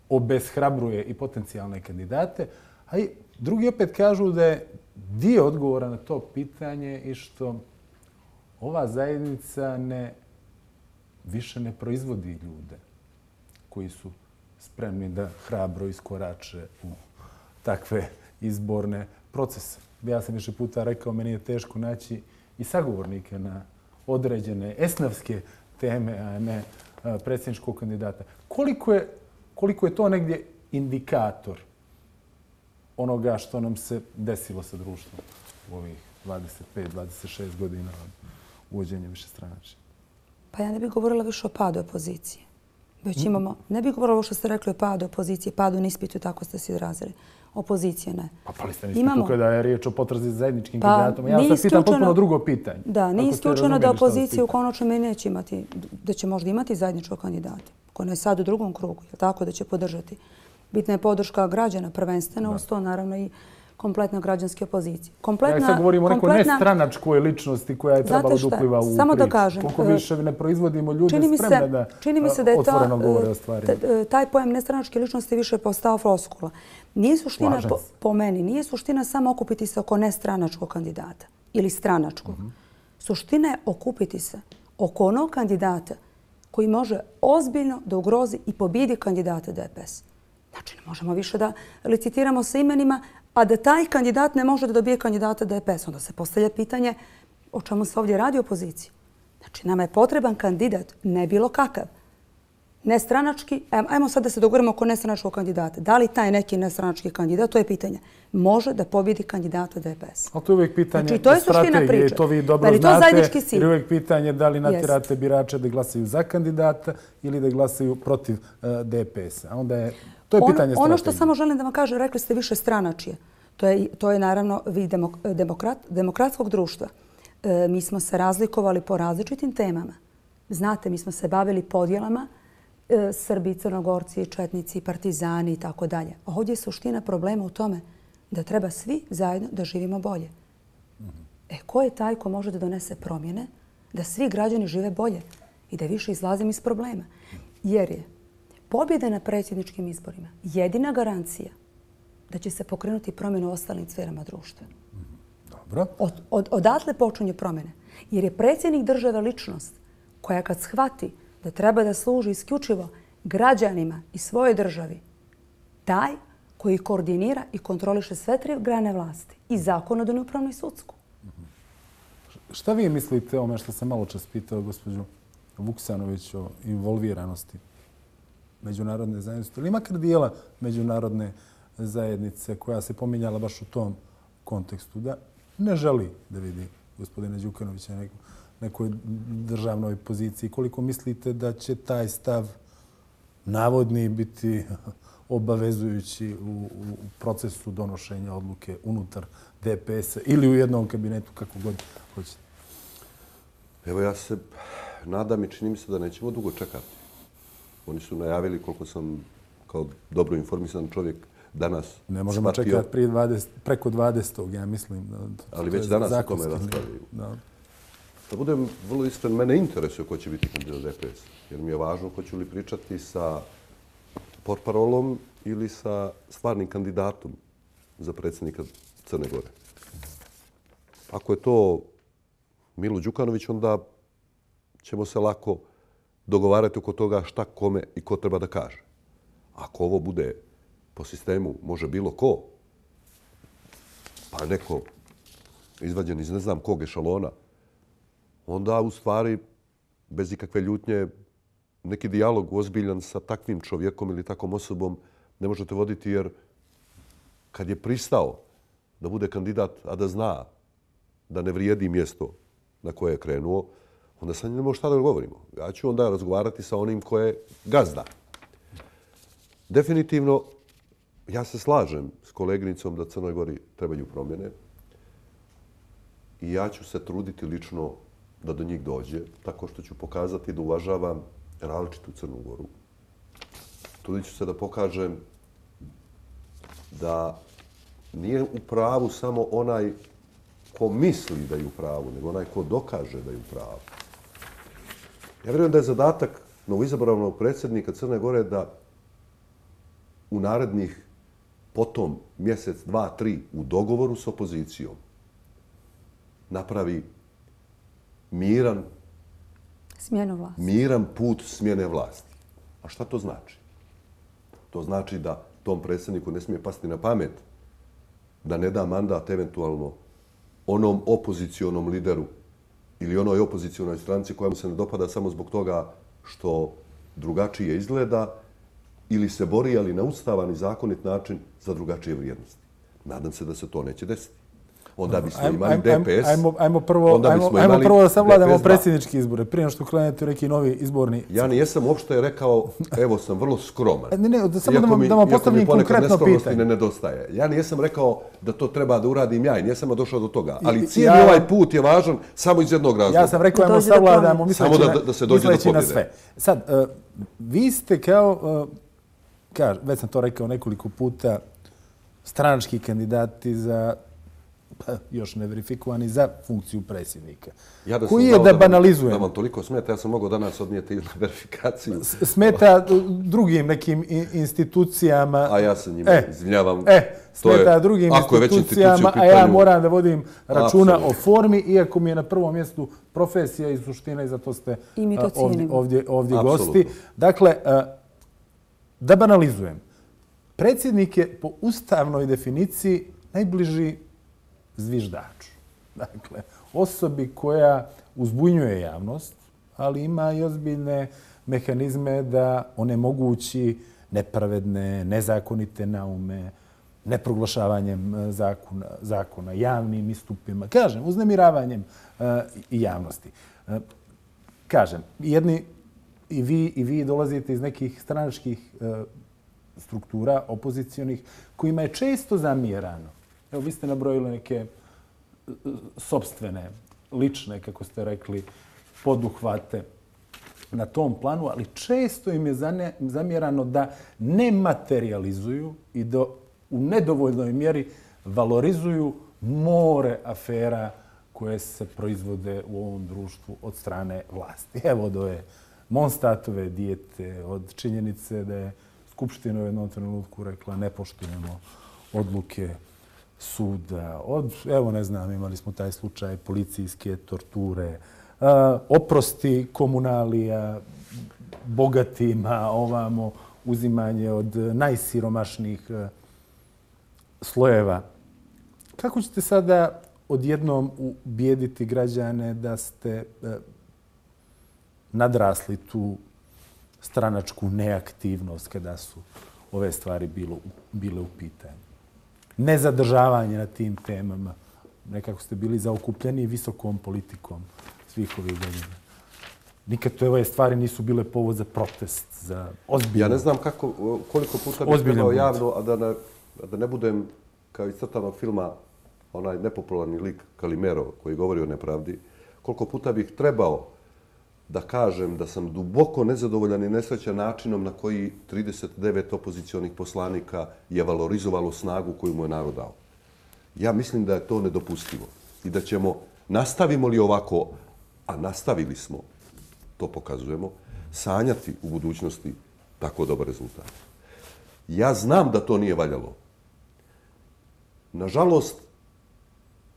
obeshrabruje i potencijalne kandidate. A i drugi opet kažu da je dio odgovora na to pitanje i što ova zajednica ne, više ne proizvodi ljude koji su spremni da hrabro iskorače u takve izborne procese. Ja sam više puta rekao, meni je teško naći i sagovornike na određene esnavske teme, a ne predsjedničkog kandidata. Koliko je, koliko je to negdje indikator onoga što nam se desilo sa društvom u ovih dvadeset pet dvadeset šest godina uvođenja višestranačja? Pa ja ne bih govorila više o padu opozicije. Već imamo, ne bih govorila ovo što ste rekli o padu opozicije, padu na ispitu, tako ste se izrazili. Opozicije ne. Pa pali ste na ispitu kada je riječ o potrazi za zajedničkim pa, kandidatom. Ja sam pitam potpuno drugo pitanje. Da, nije isključeno da opozicija u konačnom neće imati, da će možda imati zajedničkog kandidata, koji je sad u drugom krugu, je tako da će podržati. Bitna je podrška građana prvenstveno, uz to naravno i kompletna građanske opozicije. Kompletna, ja sad govorim o nekoj nestranačkoj ličnosti koja je trebala da upliva u priču. Samo da kažem. Koliko više ne proizvodimo ljude spremne da čini mi se da je otvoreno govore o stvarima. Taj pojam nestranačke ličnosti više postao floskula. Nije suština, po, po meni, nije suština samo okupiti se oko nestranačkog kandidata ili stranačkog. Mm-hmm. Suština je okupiti se oko onog kandidata koji može ozbiljno da ugrozi i pobijedi kandidata D P S. Znači, ne možemo više da licitiramo sa imenima, a da taj kandidat ne može da dobije kandidata D P S. Onda se postavlja pitanje o čemu se ovdje radi opoziciji. Znači, nama je potreban kandidat, ne bilo kakav, nestranački, ajmo sad da se dogovorimo oko nestranačkog kandidata. Da li taj neki nestranački kandidat, to je pitanje, može da pobjedi kandidata D P S? Ali to je uvijek pitanje znači, to je strategije i to vi dobro znate. Jer je uvijek pitanje da li natjerate birače da glasaju za kandidata ili da glasaju protiv uh, D P S-a. Onda je, to je ono, pitanje strategije. Ono što samo želim da vam kažem, rekli ste više stranačije. To je, to je naravno vid demok, demokrat, demokratskog društva. E, mi smo se razlikovali po različitim temama. Znate, mi smo se bavili podjelama e, Srbi, Crnogorci, Četnici, Partizani i tako dalje. Ovdje je suština problema u tome da treba svi zajedno da živimo bolje. E, ko je taj ko može da donese promjene da svi građani žive bolje i da više izlazimo iz problema? Jer je pobjeda na predsjedničkim izborima jedina garancija da će se pokrenuti promjene u ostalim sferama društva. Dobro. Od, od, odatle počinje promjene. Jer je predsjednik države ličnost koja kad shvati da treba da služi isključivo građanima i svojoj državi, taj koji koordinira i kontroliše sve tri grane vlasti. I zakonodavnu, upravnu i sudsku. Šta vi mislite o ome što sam malo čas pitao gospođu Vuksanović o involviranosti međunarodne zajednice, ili makar dijela međunarodne zajednice koja se pominjala baš u tom kontekstu, da ne želi da vidi gospodina Đukanovića na nekoj državnoj poziciji. Koliko mislite da će taj stav navodni biti obavezujući u, u procesu donošenja odluke unutar D P S-a ili u jednom kabinetu, kako god hoćete? Evo, ja se nadam i čini mi se da nećemo dugo čekati. Oni su najavili, koliko sam kao dobro informisan čovjek danas ne možemo shvatio, čekati prije dvadeset, preko dvadesetog, ja mislim. Da, ali već danas o tome raspravljaju. Da. Da budem vrlo iskren, mene interesuje ko će biti kandidat D P S. Jer mi je važno hoću li pričati sa portparolom ili sa stvarnim kandidatom za predsjednika Crne Gore. Ako je to Milo Đukanović, onda ćemo se lako dogovarati oko toga šta kome i ko treba da kaže. Ako ovo bude po sistemu može bilo ko, pa neko izvađen iz ne znam kog ešalona, onda u stvari bez ikakve ljutnje neki dijalog ozbiljan sa takvim čovjekom ili takvom osobom ne možete voditi, jer kad je pristao da bude kandidat, a da zna da ne vrijedi mjesto na koje je krenuo, onda sa njim ne može šta da govorimo. Ja ću onda razgovarati sa onim ko je gazda. Definitivno, ja se slažem s koleginicom da Crnoj Gori trebaju promjene i ja ću se truditi lično da do njih dođe, tako što ću pokazati da uvažavam različitu Crnu Goru. Trudit ću se da pokažem da nije u pravu samo onaj ko misli da je u pravu, nego onaj ko dokaže da je u pravu. Ja vjerujem da je zadatak novoizabranog predsjednika Crne Gore da u narednih potom mjesec, dva, tri u dogovoru s opozicijom napravi miran, miran put smjene vlasti. A šta to znači? To znači da tom predsjedniku ne smije pasti na pamet da ne da mandat eventualno onom opozicionom lideru ili onoj opozicionoj stranci koja mu se ne dopada samo zbog toga što drugačije izgleda ili se bori, ali na ustavan i zakonit način, za drugačije vrijednosti. Nadam se da se to neće desiti. Onda bismo imali D P S. Ajmo, ajmo, prvo, ajmo, ajmo prvo da savladamo predsjednički izbore, prije nego što krenete u neki novi izborni. Ja nijesam uopšte rekao, evo sam vrlo skroman. Ne, ne, da samo da vam, da vam postavim konkretno pitanje. Ne nedostaje. Ja nijesam rekao da to treba da uradim ja i nijesam došao do toga. Ali cijeli ja, ovaj put je važan samo iz jednog razloga. Ja sam rekao, ajmo savladamo, misleći, da, da, da se dođe do na sve. Sad, uh, vi ste kao, uh, kaž, već sam to rekao nekoliko puta, stranački kandidati za pa, još neverifikovani za funkciju predsjednika. Ja da koji je da banalizujem. Da vam toliko smeta, ja sam mogao danas odnijeti na verifikaciju. Smeta drugim nekim institucijama. A ja se njima e, izvinjavam. E, smeta je, drugim institucijama, a ja moram da vodim računa absolutno o formi, iako mi je na prvom mjestu profesija i suština i zato ste ovdje, ovdje, ovdje gosti. Dakle, da banalizujem. Predsjednik je po ustavnoj definiciji najbliži zviždaču. Dakle, osobi koja uzbunjuje javnost, ali ima i ozbiljne mehanizme da onemogući nepravedne, nezakonite naume, neproglašavanjem zakona, zakona javnim istupima, kažem, uznemiravanjem i javnosti. Kažem, jedni i vi, i vi dolazite iz nekih stranačkih struktura opozicionih kojima je često zamjerano. Evo, vi ste nabrojili neke sopstvene, lične, kako ste rekli, poduhvate na tom planu, ali često im je zamjerano da ne materializuju i da u nedovoljnoj mjeri valorizuju more afera koje se proizvode u ovom društvu od strane vlasti. Evo od ove Monstatove dijete, od činjenice da je Skupština u jednom trenutku rekla ne poštujemo odluke suda, od, evo ne znam, imali smo taj slučaj policijske torture, oprosti komunalija bogatima, ovamo uzimanje od najsiromašnijih slojeva. Kako ćete sada odjednom ubijediti građane da ste nadrasli tu stranačku neaktivnost kada su ove stvari bilo, bile u pitanju? Nezadržavanje na tim temama. Nekako ste bili zaokupljeni visokom politikom svih ovih godina. Nikad to ove stvari nisu bile povod za protest, za ozbiljno. Ja ne znam kako, koliko puta bih trebao javno, a da ne, a da ne budem kao iz crtanog filma onaj nepopularni lik Kalimero koji govori o nepravdi, koliko puta bih trebao da kažem da sam duboko nezadovoljan i nesrećan načinom na koji trideset devet opozicionih poslanika je valorizovalo snagu koju mu je narod dao. Ja mislim da je to nedopustivo i da ćemo, nastavimo li ovako, a nastavili smo, to pokazujemo, sanjati u budućnosti tako dobar rezultat. Ja znam da to nije valjalo. Nažalost,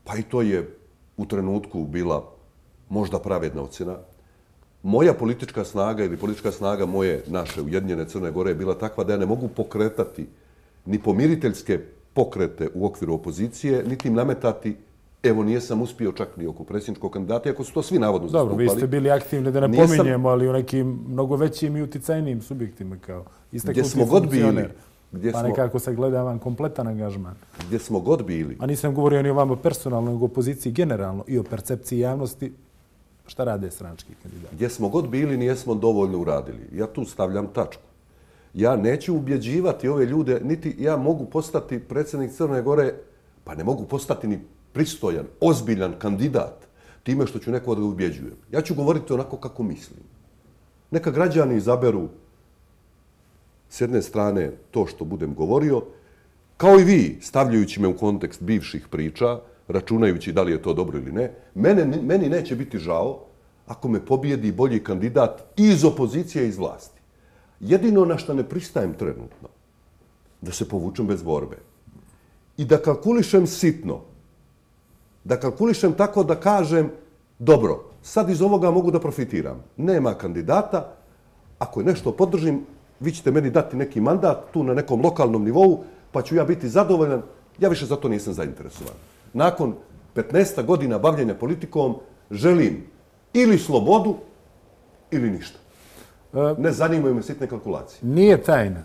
pa i to je u trenutku bila možda pravedna ocjena, moja politička snaga ili politička snaga moje, naše Ujedinjene Crne Gore je bila takva da ja ne mogu pokretati ni pomiriteljske pokrete u okviru opozicije, niti im nametati, evo nijesam uspio čak ni oko predsjedničkog kandidata, iako su to svi navodno zastupali. Dobro, vi ste bili aktivni, da ne nijesam, pominjemo, ali u nekim mnogo većim i uticajnijim subjektima kao istaknuti funkcioner. Gdje pa smo, nekako sagledavam kompletan angažman. Gdje smo god bili. A nisam govorio ni o vama personalno, nego o opoziciji generalno i o percepciji javnosti. Šta rade stranački kandidati? Gdje smo god bili, nijesmo dovoljno uradili. Ja tu stavljam tačku. Ja neću ubjeđivati ove ljude, niti ja mogu postati predsjednik Crne Gore, pa ne mogu postati ni pristojan, ozbiljan kandidat time što ću nekog da ubjeđujem. Ja ću govoriti onako kako mislim. Neka građani izaberu s jedne strane to što budem govorio, kao i vi, stavljajući me u kontekst bivših priča, računajući da li je to dobro ili ne, mene, meni neće biti žao ako me pobijedi bolji kandidat iz opozicije i iz vlasti. Jedino na što ne pristajem trenutno, da se povučem bez borbe. I da kalkulišem sitno, da kalkulišem tako da kažem, dobro, sad iz ovoga mogu da profitiram. Nema kandidata, ako je nešto podržim, vi ćete meni dati neki mandat tu na nekom lokalnom nivou, pa ću ja biti zadovoljan, ja više za to nisam zainteresovan. Nakon petnaest godina bavljenja politikom želim ili slobodu ili ništa. Ne zanimaju me sitne kalkulacije. Nije tajna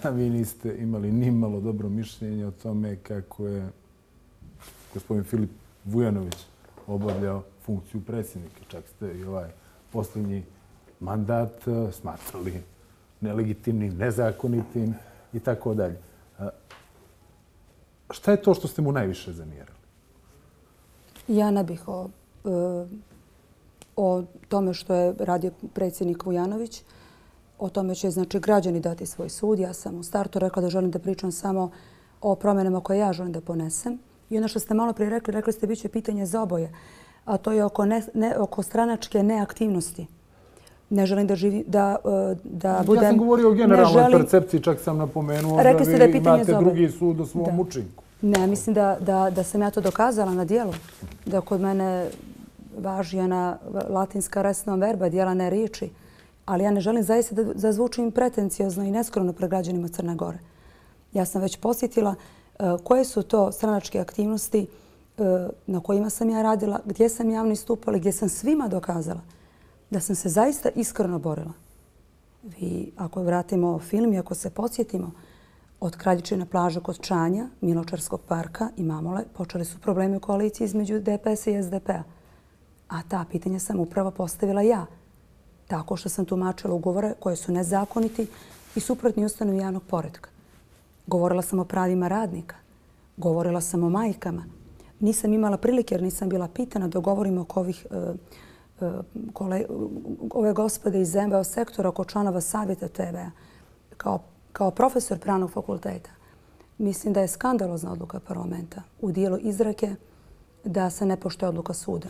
da vi niste imali ni malo dobro mišljenje o tome kako je gospodin Filip Vujanović obavljao funkciju predsjednika. Čak ste i ovaj posljednji mandat smatrali nelegitimnim, nezakonitim i tako dalje. Šta je to što ste mu najviše zamjerali? Ja ne bih o, o tome što je radio predsjednik Vujanović. O tome će znači, građani dati svoj sud. Ja sam u startu rekla da želim da pričam samo o promjenama koje ja želim da ponesem. I ono što ste malo prije rekli, rekli ste bit će pitanje za oboje. A to je oko, ne, ne, oko stranačke neaktivnosti. Ne želim da, živi, da, da budem... Ja sam govorio o generalnoj želim... percepciji, čak sam napomenuo da vi da imate drugi sud o svom učinku. Ne, mislim da, da, da sam ja to dokazala na dijelu. Da kod mene važi ona latinska res non verba, dijela ne riječi. Ali ja ne želim zaista da zazvučim pretencijozno i neskromno pred građanima Crne Gore. Ja sam već posjetila uh, koje su to stranačke aktivnosti uh, na kojima sam ja radila, gdje sam javno istupala, gdje sam svima dokazala da sam se zaista iskreno borila Vi, ako vratimo film i ako se podsjetimo, od Kraljičine plaže kod Čanja, Miločarskog parka i Mamule, počeli su problemi u koaliciji između D P S-a i S D P-a. A ta pitanja sam upravo postavila ja. Tako što sam tumačila ugovore koje su nezakoniti i suprotni ustanovi javnog poretka. Govorila sam o pravima radnika. Govorila sam o majkama. Nisam imala prilike jer nisam bila pitana da govorim oko ovih, e, e, kole, ove gospode iz M V O sektora, oko članova savjeta T V-a. Kao, kao profesor pravnog fakulteta mislim da je skandalozna odluka parlamenta u dijelu izreke da se ne poštuje odluka suda.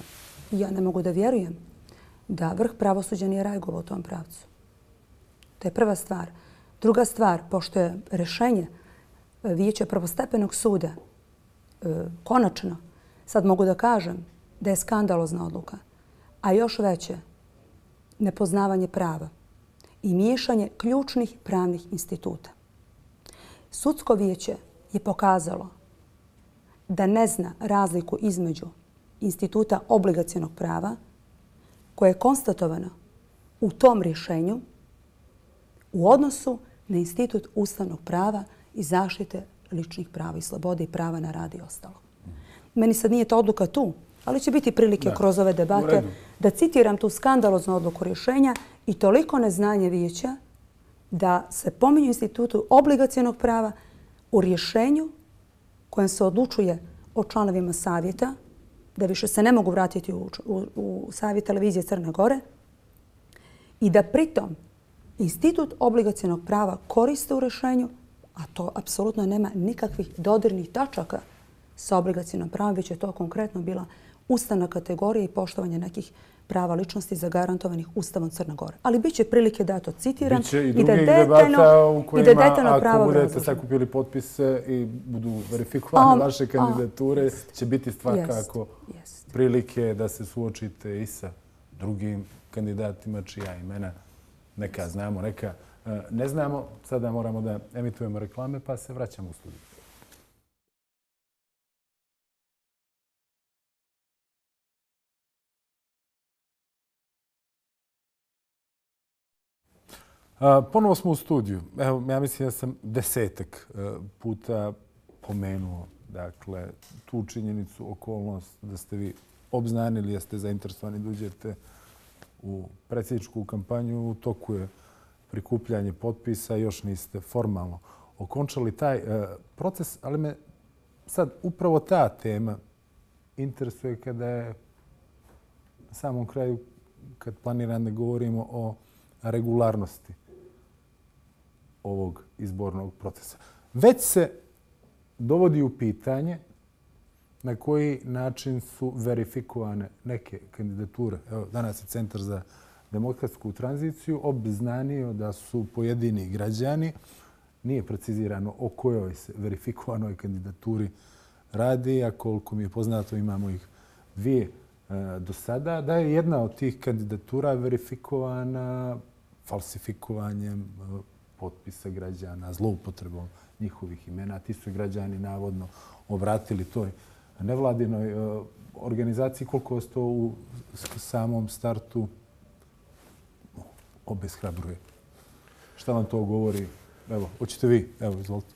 Ja ne mogu da vjerujem da vrh pravosuđa nije reagovao u tom pravcu. To je prva stvar. Druga stvar, pošto je rješenje Vijeća prvostepenog suda e, konačno, sad mogu da kažem da je skandalozna odluka, a još veće nepoznavanje prava i miješanje ključnih pravnih instituta. Sudsko vijeće je pokazalo da ne zna razliku između instituta obligacionog prava koje je konstatovano u tom rješenju u odnosu na institut ustavnog prava i zaštite ličnih prava i slobode i prava na rad i ostalo. Meni sad nije ta odluka tu, ali će biti prilike da, kroz ove debate da citiram tu skandaloznu odluku rješenja i toliko neznanje vijeća da se pominju institutu obligacionog prava u rješenju kojem se odlučuje o članovima savjeta, da više se ne mogu vratiti u, u, u savjet televizije Crne Gore i da pritom institut obligacionog prava koriste u rješenju, a to apsolutno nema nikakvih dodirnih tačaka sa obligacionom pravom, već je to konkretno bila ustavna kategorija i poštovanje nekih prava ličnosti zagarantovanih Ustavom Crne Gore. Ali bit će prilike da to citiram Biće i i da drugih detaljno, debata u kojima, i da detaljno pravo ako budete obrazložim. sakupili potpise i budu verifikovane Um, vaše kandidature, um, će biti svakako jest. prilike da se suočite i sa drugim kandidatima čija imena neka znamo, neka ne znamo. Sada moramo da emitujemo reklame pa se vraćamo u studiju. Ponovo smo u studiju. Evo, ja mislim da sam desetak puta pomenuo dakle, tu činjenicu, okolnost da ste vi obznanili, da ste zainteresovani da uđete u predsjedničku kampanju. U toku je prikupljanje potpisa, još niste formalno okončali taj proces, ali me sad upravo ta tema interesuje kada je na samom kraju, kad planiram da govorimo o regularnosti ovog izbornog procesa. Već se dovodi u pitanje na koji način su verifikovane neke kandidature. Evo, danas je Centar za demokratsku tranziciju obznanio da su pojedini građani, nije precizirano o kojoj se verifikovanoj kandidaturi radi, a koliko mi je poznato imamo ih dvije e, do sada, da je jedna od tih kandidatura verifikovana falsifikovanjem e, potpisa građana, zloupotrebom njihovih imena. Ti su građani navodno obratili toj nevladinoj e, organizaciji. Koliko vas to u samom startu obeshrabruje? Šta vam to govori? Evo, hoćete vi? Evo, izvolite.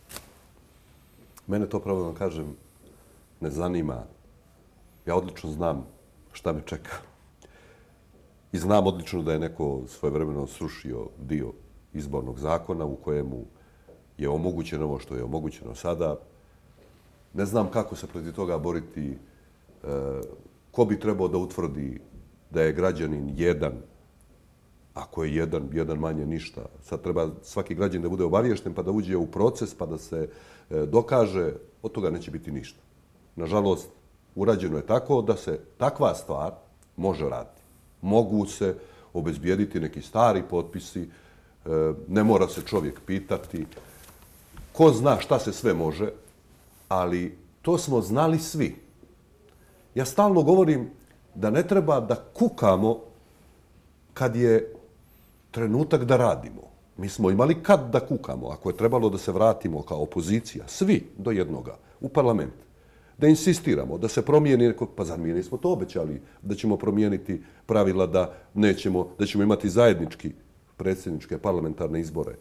Mene to, pravo da kažem, ne zanima. Ja odlično znam šta me čeka. I znam odlično da je neko svojevremeno srušio dio izbornog zakona u kojemu je omogućeno ovo što je omogućeno sada. Ne znam kako se protiv toga boriti. Ko bi trebao da utvrdi da je građanin jedan, ako je jedan, jedan manje ništa. Sad treba svaki građanin da bude obaviješten pa da uđe u proces pa da se dokaže. Od toga neće biti ništa. Nažalost, urađeno je tako da se takva stvar može raditi. Mogu se obezbijediti neki stari potpisi, ne mora se čovjek pitati. Ko zna šta se sve može, ali to smo znali svi. Ja stalno govorim da ne treba da kukamo kad je trenutak da radimo. Mi smo imali kad da kukamo, ako je trebalo da se vratimo kao opozicija, svi do jednoga, u parlament, da insistiramo, da se promijeni, pa zar mi nismo to obećali, da ćemo promijeniti pravila, da nećemo, da ćemo imati zajednički predsjedničke parlamentarne izbore,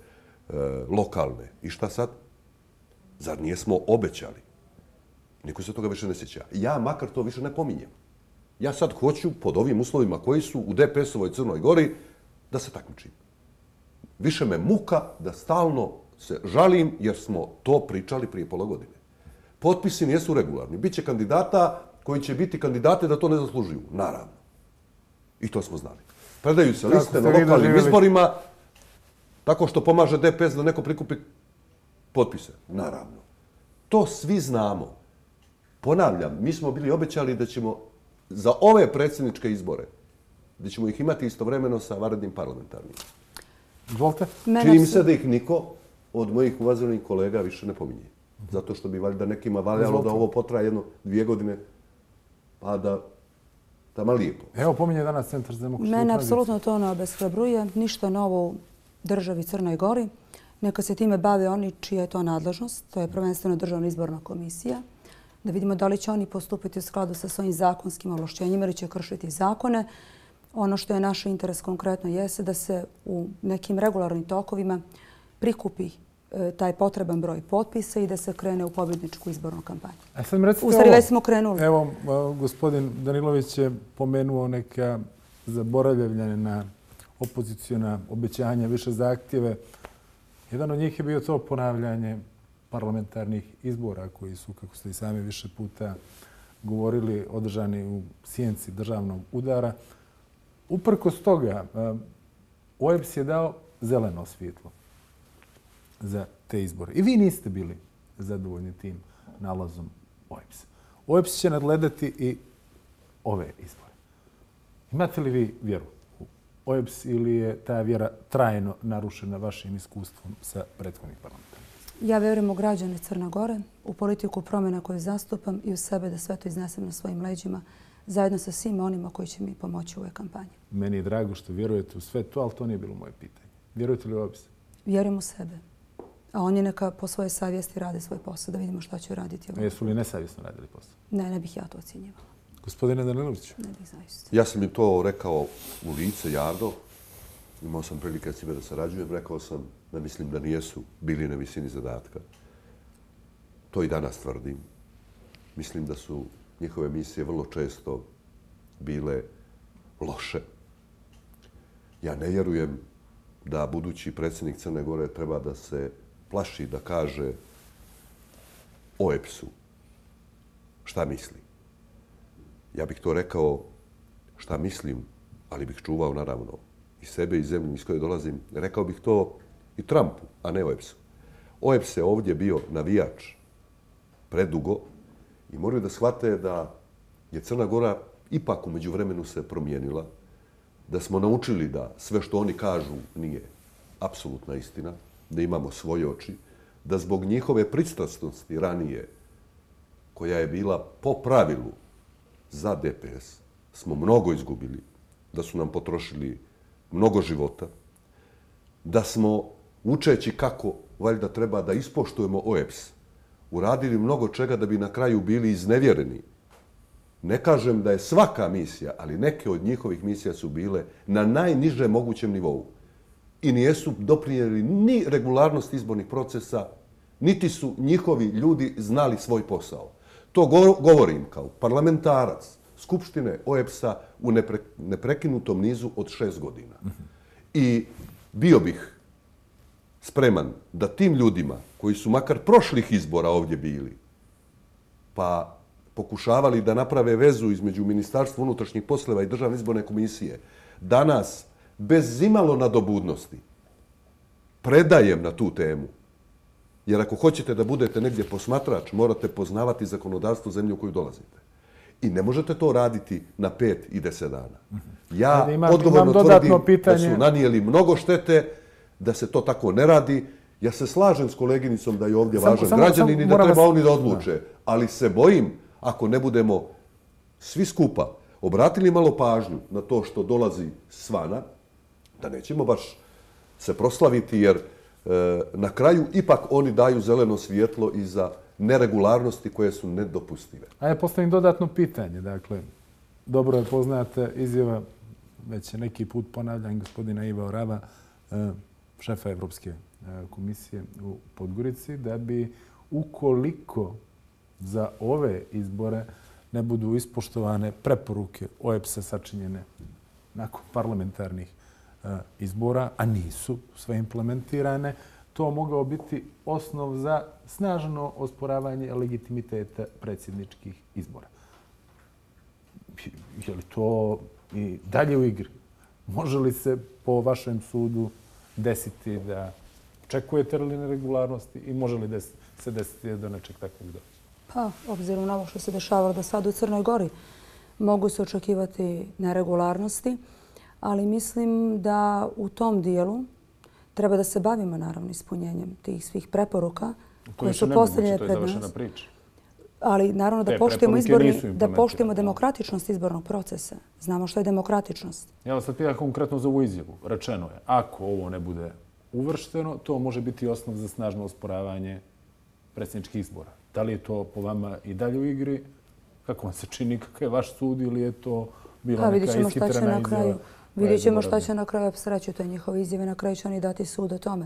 lokalne. I šta sad? Zar nijesmo obećali? Niko se toga više ne sjeća. Ja makar to više ne pominjem. Ja sad hoću, pod ovim uslovima koji su u D P S-ovoj Crnoj Gori, da se takmičim. Više me muka da stalno se žalim jer smo to pričali prije pola godine. Potpisi nijesu regularni. Biće kandidata koji će biti kandidate da to ne zaslužuju. Naravno. I to smo znali. Predaju se liste na lokalnim izborima tako što pomaže D P S da neko prikupi potpise. Naravno. To svi znamo. Ponavljam, mi smo bili obećali da ćemo za ove predsjedničke izbore, da ćemo ih imati istovremeno sa vanrednim parlamentarnim. Izvolite. Čini mi se da ih niko od mojih uvaženih kolega više ne pominje. Zato što bi valjda nekima valjalo da ovo potraje jedno, dvije godine, pa da tamo lijepo. Evo pominje danas Centar za demokratsku tranziciju. Mene apsolutno to ne obeshrabruje. Ništa novo u državi Crnoj Gori. Neka se time bave oni čija je to nadležnost. To je prvenstveno Državna izborna komisija. Da vidimo da li će oni postupiti u skladu sa svojim zakonskim ovlašćenjima ili će kršiti zakone. Ono što je naš interes konkretno jeste da se u nekim regularnim tokovima prikupi taj potreban broj potpisa i da se krene u pobjedničku izbornu kampanju. A sad mi recite u stvari već smo krenuli. Evo, gospodin Danilović je pomenuo neka zaboravljena opozicijona obećanja, više zahtjeve. Jedan od njih je bio to ponavljanje parlamentarnih izbora koji su, kako ste i sami više puta govorili, održani u sjenci državnog udara. Uprkos toga, O E B S je dao zeleno svjetlo za te izbore. I vi niste bili zadovoljni tim nalazom O E B S. O E B S će nadgledati i ove izbore. Imate li vi vjeru u O E B S ili je ta vjera trajno narušena vašim iskustvom sa prethodnih parlamentarnih? Ja vjerujem u građane Crne Gore, u politiku promjena koju zastupam i u sebe da sve to iznesem na svojim leđima zajedno sa svima onima koji će mi pomoći u ovoj kampanji. Meni je drago što vjerujete u sve to, ali to nije bilo moje pitanje. Vjerujete li u O E B S? Vjerujem u sebe. A oni neka po svojoj savjesti rade svoj posao, da vidimo šta će raditi. A jesu li nesavjesno radili posao? Ne, ne bih ja to ocjenjivala. Gospodine Danilović? Ne bih zaista. Ja sam im to rekao u lice, javno. Imao sam prilike s njima da sarađujem. Rekao sam da mislim da nijesu bili na visini zadatka. To i danas tvrdim. Mislim da su njihove misije vrlo često bile loše. Ja ne vjerujem da budući predsjednik Crne Gore treba da se plaši da kaže O E B S-u šta misli. Ja bih to rekao šta mislim, ali bih čuvao naravno i sebe i zemlju iz koje dolazim. Rekao bih to i Trumpu, a ne O E B S-u. O E B S je ovdje bio navijač predugo i moraju da shvate da je Crna Gora ipak u međuvremenu se promijenila, da smo naučili da sve što oni kažu nije apsolutna istina, da imamo svoje oči, da zbog njihove pristrasnosti ranije, koja je bila po pravilu za D P S, smo mnogo izgubili, da su nam potrošili mnogo života, da smo, učeći kako valjda treba da ispoštujemo O E B S, uradili mnogo čega da bi na kraju bili iznevjereni. Ne kažem da je svaka misija, ali neke od njihovih misija su bile na najnižem mogućem nivou i nijesu doprinijeli ni regularnost izbornih procesa, niti su njihovi ljudi znali svoj posao. To govorim kao parlamentarac Skupštine O E B S-a u neprekinutom nizu od šest godina. I bio bih spreman da tim ljudima koji su makar prošlih izbora ovdje bili, pa pokušavali da naprave vezu između Ministarstva unutrašnjih poslova i Državne izborne komisije, danas bez imalo nadobudnosti predajem na tu temu. Jer ako hoćete da budete negdje posmatrač, morate poznavati zakonodavstvo zemlje u koju dolazite. I ne možete to raditi na pet i deset dana. Ja odgovorno tvrdim da su nanijeli mnogo štete, da se to tako ne radi. Ja se slažem s koleginicom da je ovdje važan građanin i da treba oni da odluče. Ali se bojim, ako ne budemo svi skupa obratili malo pažnju na to što dolazi svana, da nećemo baš se proslaviti, jer na kraju ipak oni daju zeleno svjetlo i za neregularnosti koje su nedopustive. A ja postavim dodatno pitanje. Dakle, dobro je poznata izjava, već je neki put ponavljam, gospodina Iva Orava, šefa Evropske komisije u Podgorici, da bi ukoliko za ove izbore ne budu ispoštovane preporuke O E B S-a sačinjene nakon parlamentarnih izbora, a nisu sve implementirane, to mogao biti osnov za snažno osporavanje legitimiteta predsjedničkih izbora. Je li to i dalje u igri? Može li se po vašem sudu desiti da očekujete li neregularnosti i može li se desiti do nečeg takvog doći? Pa, obzirom na ovo što se dešavalo do sada u Crnoj Gori, mogu se očekivati neregularnosti, ali mislim da u tom dijelu treba da se bavimo naravno ispunjenjem tih svih preporuka koje su postavljene pred nas. Ali naravno da poštujemo izborni, da poštujemo demokratičnost izbornog procesa. Znamo što je demokratičnost. Ja vas sad pitam konkretno za ovu izjavu. Rečeno je, ako ovo ne bude uvršteno, to može biti osnov za snažno osporavanje predsjedničkih izbora. Da li je to po vama i dalje u igri? Kako vam se čini, kakav je vaš sud ili je to bila neka ishitrena izjava? Vidjet ćemo šta će na kraju reći. To je njihove izjave. Na kraju će oni dati sud o tome.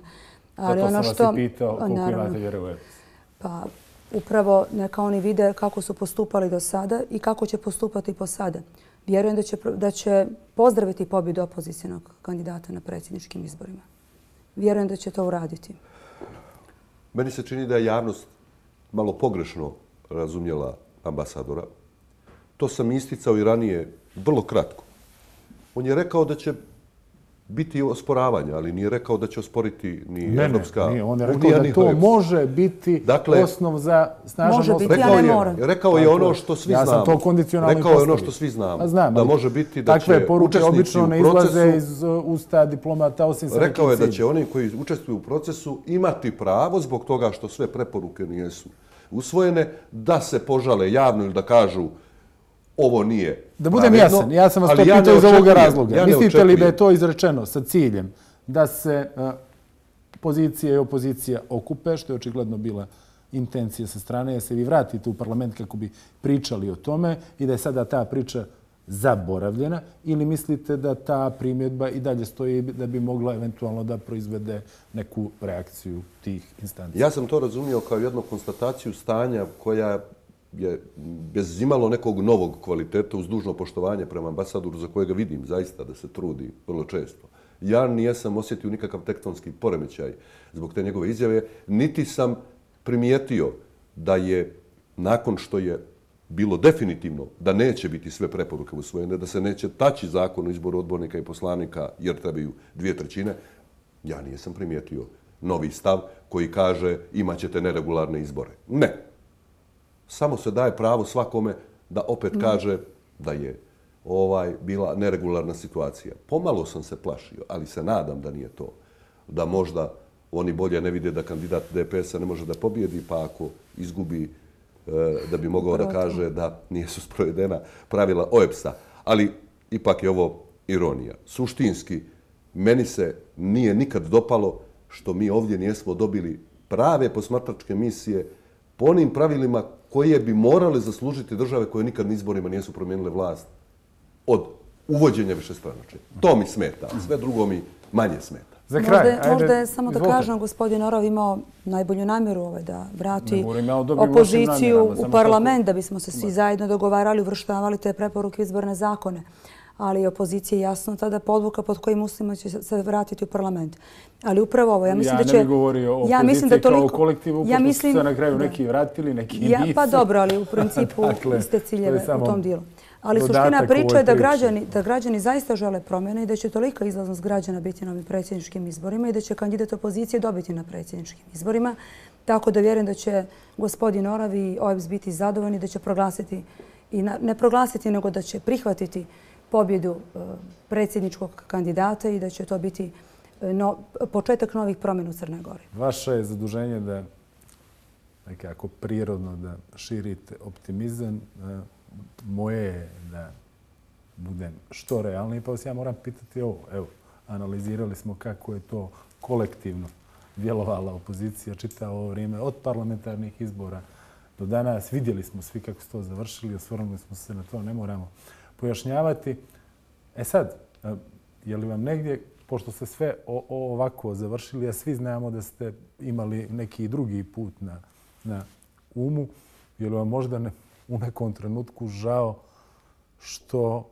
Zato sam vas i pitao koliko imate vjere u E B S. Pa upravo neka oni vide kako su postupali do sada i kako će postupati po sada. Vjerujem da će pozdraviti pobjedu opozicijnog kandidata na predsjedničkim izborima. Vjerujem da će to uraditi. Meni se čini da je javnost malo pogrešno razumjela ambasadora. To sam isticao i ranije vrlo kratko. On je rekao da će biti osporavanja, ali nije rekao da će osporiti ni Evropska... Ne, ne, on je rekao da to može biti osnov za snažan osporavanje. Može biti, ja ne moram. Rekao je ono što svi znamo. Ja sam to kondicionalno Rekao je ono što svi znamo. Da može biti da će takve poruke obično ne izlaze iz usta diplomata osim sa nekim Rekao je da će oni koji učestvuju u procesu imati pravo zbog toga što sve preporuke nisu usvojene, da se požale javno ili da kažu ovo nije. Da budem jasan, ja sam vas to pitao iz ovoga razloga. Mislite li da je to izrečeno sa ciljem da se pozicija i opozicija okupe, što je očigledno bila intencija sa strane, da se vi vratite u parlament kako bi pričali o tome i da je sada ta priča zaboravljena, ili mislite da ta primjedba i dalje stoji da bi mogla eventualno da proizvede neku reakciju tih instancija? Ja sam to razumio kao jednu konstataciju stanja koja je bez imalo nekog novog kvaliteta uz dužno poštovanje prema ambasadoru za kojega vidim zaista da se trudi vrlo često. Ja nijesam osjetio nikakav tektonski poremećaj zbog te njegove izjave, niti sam primijetio da je nakon što je bilo definitivno da neće biti sve preporuke usvojene, da se neće taći zakon o izboru odbornika i poslanika jer trebaju dvije trećine, ja nijesam primijetio novi stav koji kaže imat ćete neregularne izbore. Ne. Samo se daje pravo svakome da opet kaže da je ovaj bila neregularna situacija. Pomalo sam se plašio, ali se nadam da nije to. Da možda oni bolje ne vide da kandidat D P S-a ne može da pobjedi, pa ako izgubi da bi mogao da kaže da nisu sprovedena pravila O E B S-a. Ali ipak je ovo ironija. Suštinski, meni se nije nikad dopalo što mi ovdje nijesmo dobili prave posmatračke misije po onim pravilima koje bi morale zaslužiti države koje nikad na izborima nisu promijenile vlast od uvođenja višestranačja. To mi smeta, sve drugo mi manje smeta. Za kraj, možda je samo da kažem, gospodin Orov imao najbolju namjeru da vrati opoziciju u parlament, da bismo se svi zajedno dogovarali, uvrštavali te preporuke izborne zakone. Ali opozicija je jasno tada podvuka pod kojim uslovima će se vratiti u parlament. Ali upravo ovo, ja mislim da će... Ja ne bih govorio o opoziciji kao kolektivu, pošto su se na kraju neki vratili, neki nisu. Pa dobro, ali u principu iste ciljeve u tom dijelu. Ali suština priča je da građani zaista žele promjene i da će tolika izlaznost građana biti na ovim predsjedničkim izborima i da će kandidat opozicije dobiti na predsjedničkim izborima. Tako da vjerujem da će gospodin Orov i O E B S biti zadovoljni, da će proglasiti, i ne proglasiti, nego da će prihvatiti pobjedu predsjedničkog kandidata i da će to biti početak novih promjena u Crnoj Gori. Vaše je zaduženje da nekako prirodno da širite optimizam. Moje je da budem što realniji, pa vas ja moram pitati ovo. Evo, analizirali smo kako je to kolektivno djelovala opozicija čitavo ovo vrijeme od parlamentarnih izbora do danas. Vidjeli smo svi kako su to završili, osvrnuli smo se na to, ne moramo pojašnjavati. E sad, je li vam negdje pošto ste sve ovako završili, a svi znamo da ste imali neki drugi put na umu, je li vam možda u nekom trenutku žao što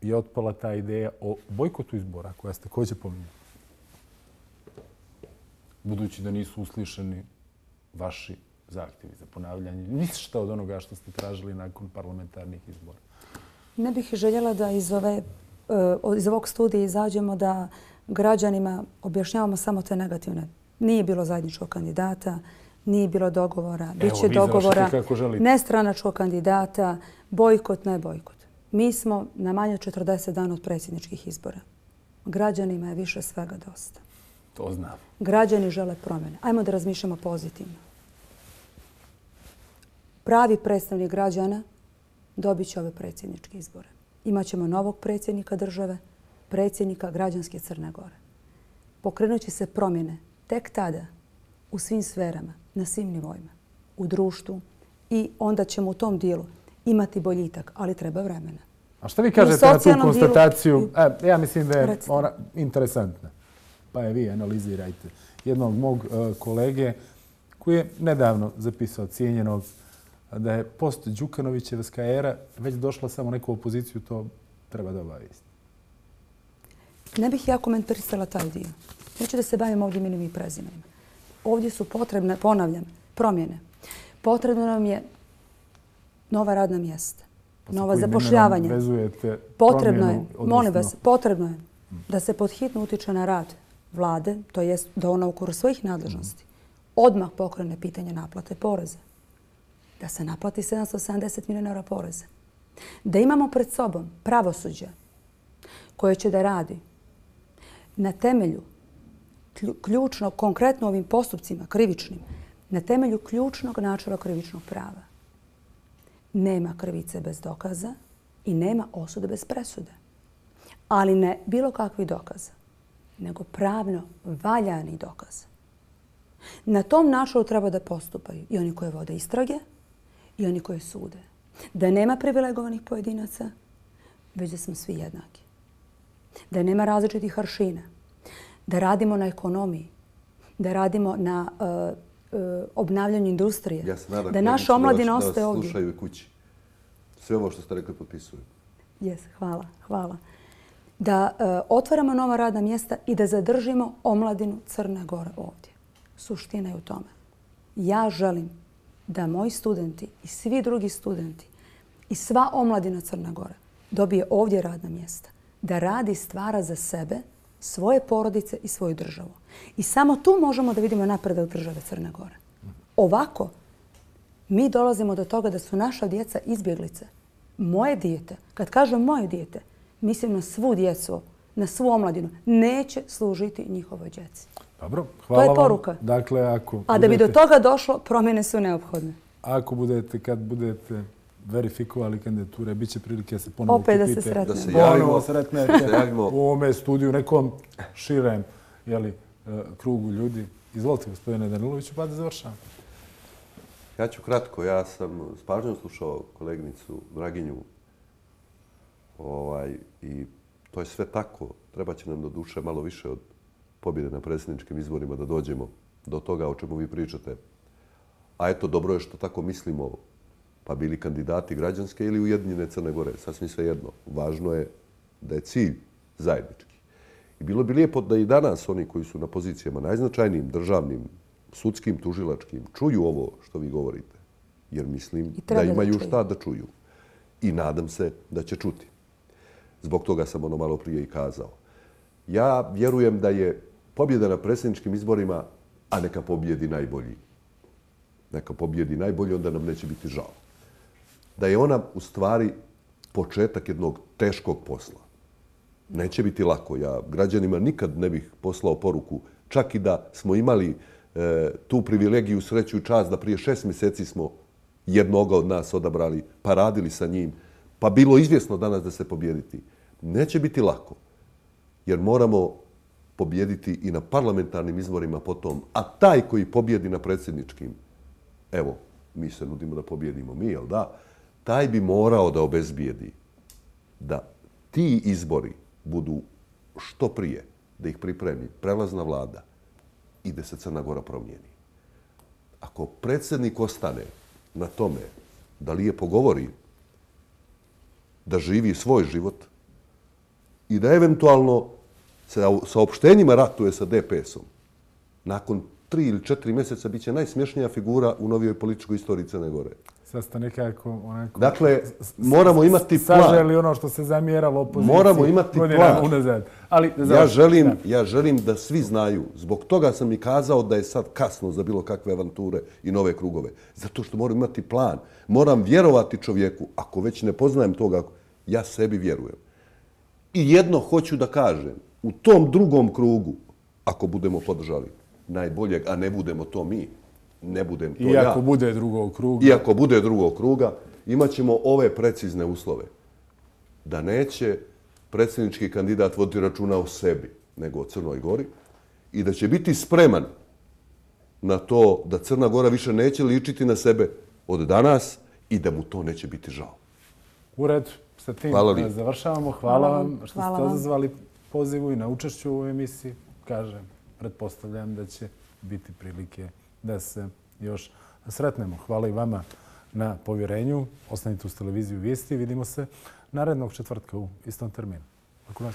je otpala ta ideja o bojkotu izbora koja ste također pominjali? Budući da nisu uslišeni vaši zahtjevi za ponavljanje, ništa od onoga što ste tražili nakon parlamentarnih izbora. Ne bih željela da iz, ove, iz ovog studija izađemo da građanima objašnjavamo samo te negativne. Nije bilo zajedničkog kandidata, nije bilo dogovora, bit će dogovora, nestranačkog kandidata, bojkot, ne bojkot. Mi smo na manje od četrdeset dana od predsjedničkih izbora. Građanima je više svega dosta. To znam. Građani žele promjene. Ajmo da razmišljamo pozitivno. Pravi predstavnik građana dobit će ove predsjedničke izbore. Imaćemo novog predsjednika države, predsjednika građanske Crne Gore. Pokrenut će se promjene tek tada u svim sferama, na svim nivoima, u društvu i onda ćemo u tom dijelu imati boljitak, ali treba vremena. A šta vi kažete na tu konstataciju? E, ja mislim da je ona interesantna. Pa je vi analizirajte. Jednog mog uh, kolege koji je nedavno zapisao cijenjenog da je post Đukanovićevska era već došla samo neku opoziciju, to treba da obavijesti. Ne bih ja komentarisala taj dio. Neću da se bavim ovdje imenom i prezimenima. Ovdje su potrebne, ponavljam, promjene. Potrebno nam je nova radna mjesta, nova zapošljavanja. Potrebno je, molim vas, potrebno je da se podhitno utiče na rad vlade, to jest da ona u okviru svojih nadležnosti odmah pokrene pitanje naplate poreza. Da se naplati sedamsto sedamdeset milijuna eura poreza. Da imamo pred sobom pravosuđe koje će da radi na temelju ključno, konkretno ovim postupcima krivičnim, na temelju ključnog načela krivičnog prava. Nema krivice bez dokaza i nema osude bez presude. Ali ne bilo kakvih dokaza, nego pravno valjani dokaz. Na tom načelu treba da postupaju i oni koji vode istrage i oni koji sude. Da nema privilegovanih pojedinaca, već da smo svi jednaki. Da nema različitih aršina. Da radimo na ekonomiji. Da radimo na uh, uh, obnavljanju industrije. Ja se nadam da naša omladina ostaje ovdje. Da vas slušaju i kući. Sve ovo što ste rekli potpisuju. Jes, hvala, hvala. Da uh, otvaramo nova radna mjesta i da zadržimo omladinu Crne Gore ovdje. Suština je u tome. Ja želim da moji studenti i svi drugi studenti i sva omladina Crne Gore dobije ovdje radna mjesta. Da radi i stvara za sebe, svoje porodice i svoju državu. I samo tu možemo da vidimo napredak države Crne Gore. Ovako, mi dolazimo do toga da su naša djeca izbjeglice. Moje dijete, kad kažem moje dijete, mislim na svu djecu, na svu omladinu, neće služiti njihovoj djeci. Dobro, hvala vam. To je poruka. Dakle, ako A da bi do toga došlo, promjene su neophodne. Ako budete, kad budete verifikovali kandidature, bit će prilike da se ponovo opet kupite. Da se sretnemo. Da se javimo. Ponovo sretnete u ovome studiju, nekom širem jeli, krugu ljudi. Izvolite, gospodine Daniloviću, pa da završam. Ja ću kratko. Ja sam s pažnjom slušao koleginicu Draginju ovaj, i to je sve tako. Treba će nam do duše malo više od pobjede na predsjedničkim izborima da dođemo do toga o čemu vi pričate. A eto, dobro je što tako mislimo, pa bili kandidati građanske ili Ujedinjene Crne Gore. Sasvim sve jedno. Važno je da je cilj zajednički. I bilo bi lijepo da i danas oni koji su na pozicijama najznačajnijim, državnim, sudskim, tužilačkim, čuju ovo što vi govorite. Jer mislim da imaju šta da čuju. I nadam se da će čuti. Zbog toga sam ono malo prije i kazao. Ja vjerujem da je pobjeda na predsjedničkim izborima, a neka pobjedi najbolji. Neka pobjedi najbolji, onda nam neće biti žao. Da je ona u stvari početak jednog teškog posla. Neće biti lako. Ja građanima nikad ne bih poslao poruku, čak i da smo imali e, tu privilegiju, sreću i čast da prije šest mjeseci smo jednoga od nas odabrali, pa radili sa njim, pa bilo izvjesno danas da se pobjediti. Neće biti lako, jer moramo pobjediti i na parlamentarnim izborima potom, a taj koji pobjedi na predsjedničkim, evo, mi se nudimo da pobjedimo mi, jel da? Taj bi morao da obezbijedi da ti izbori budu što prije da ih pripremi prelazna vlada i da se Crna Gora promijeni. Ako predsjednik ostane na tome da lijepo govori, da živi svoj život i da eventualno sa saopštenjima ratuje sa D P S-om, nakon tri ili četiri mjeseca bit će najsmješnija figura u novijoj političkoj istoriji Crne Gore. Sad ste nekako onako... Dakle, moramo imati plan. Saželi ono što se zamjeralo opoziciji. Moramo imati plan. Unazad. Ali, ja, želim, ja želim da svi znaju, zbog toga sam i kazao da je sad kasno za bilo kakve avanture i nove krugove. Zato što moram imati plan. Moram vjerovati čovjeku. Ako već ne poznajem toga, ja sebi vjerujem. I jedno hoću da kažem. U tom drugom krugu, ako budemo podržali najboljeg, a ne budemo to mi, ne budem to ja. Iako bude drugog kruga. Iako bude drugog kruga, imat ćemo ove precizne uslove. Da neće predsjednički kandidat voditi računa o sebi, nego o Crnoj Gori i da će biti spreman na to da Crna Gora više neće ličiti na sebe od danas i da mu to neće biti žao. U redu, sa tim završavamo. Hvala vam što ste odazvali pozivu i na učešću u ovoj emisiji. Kažem, pretpostavljam da će biti prilike da se još sretnemo. Hvala i vama na povjerenju. Ostanite uz televiziju Vijesti. Vidimo se narednog četvrtka u istom terminu. Laku noć.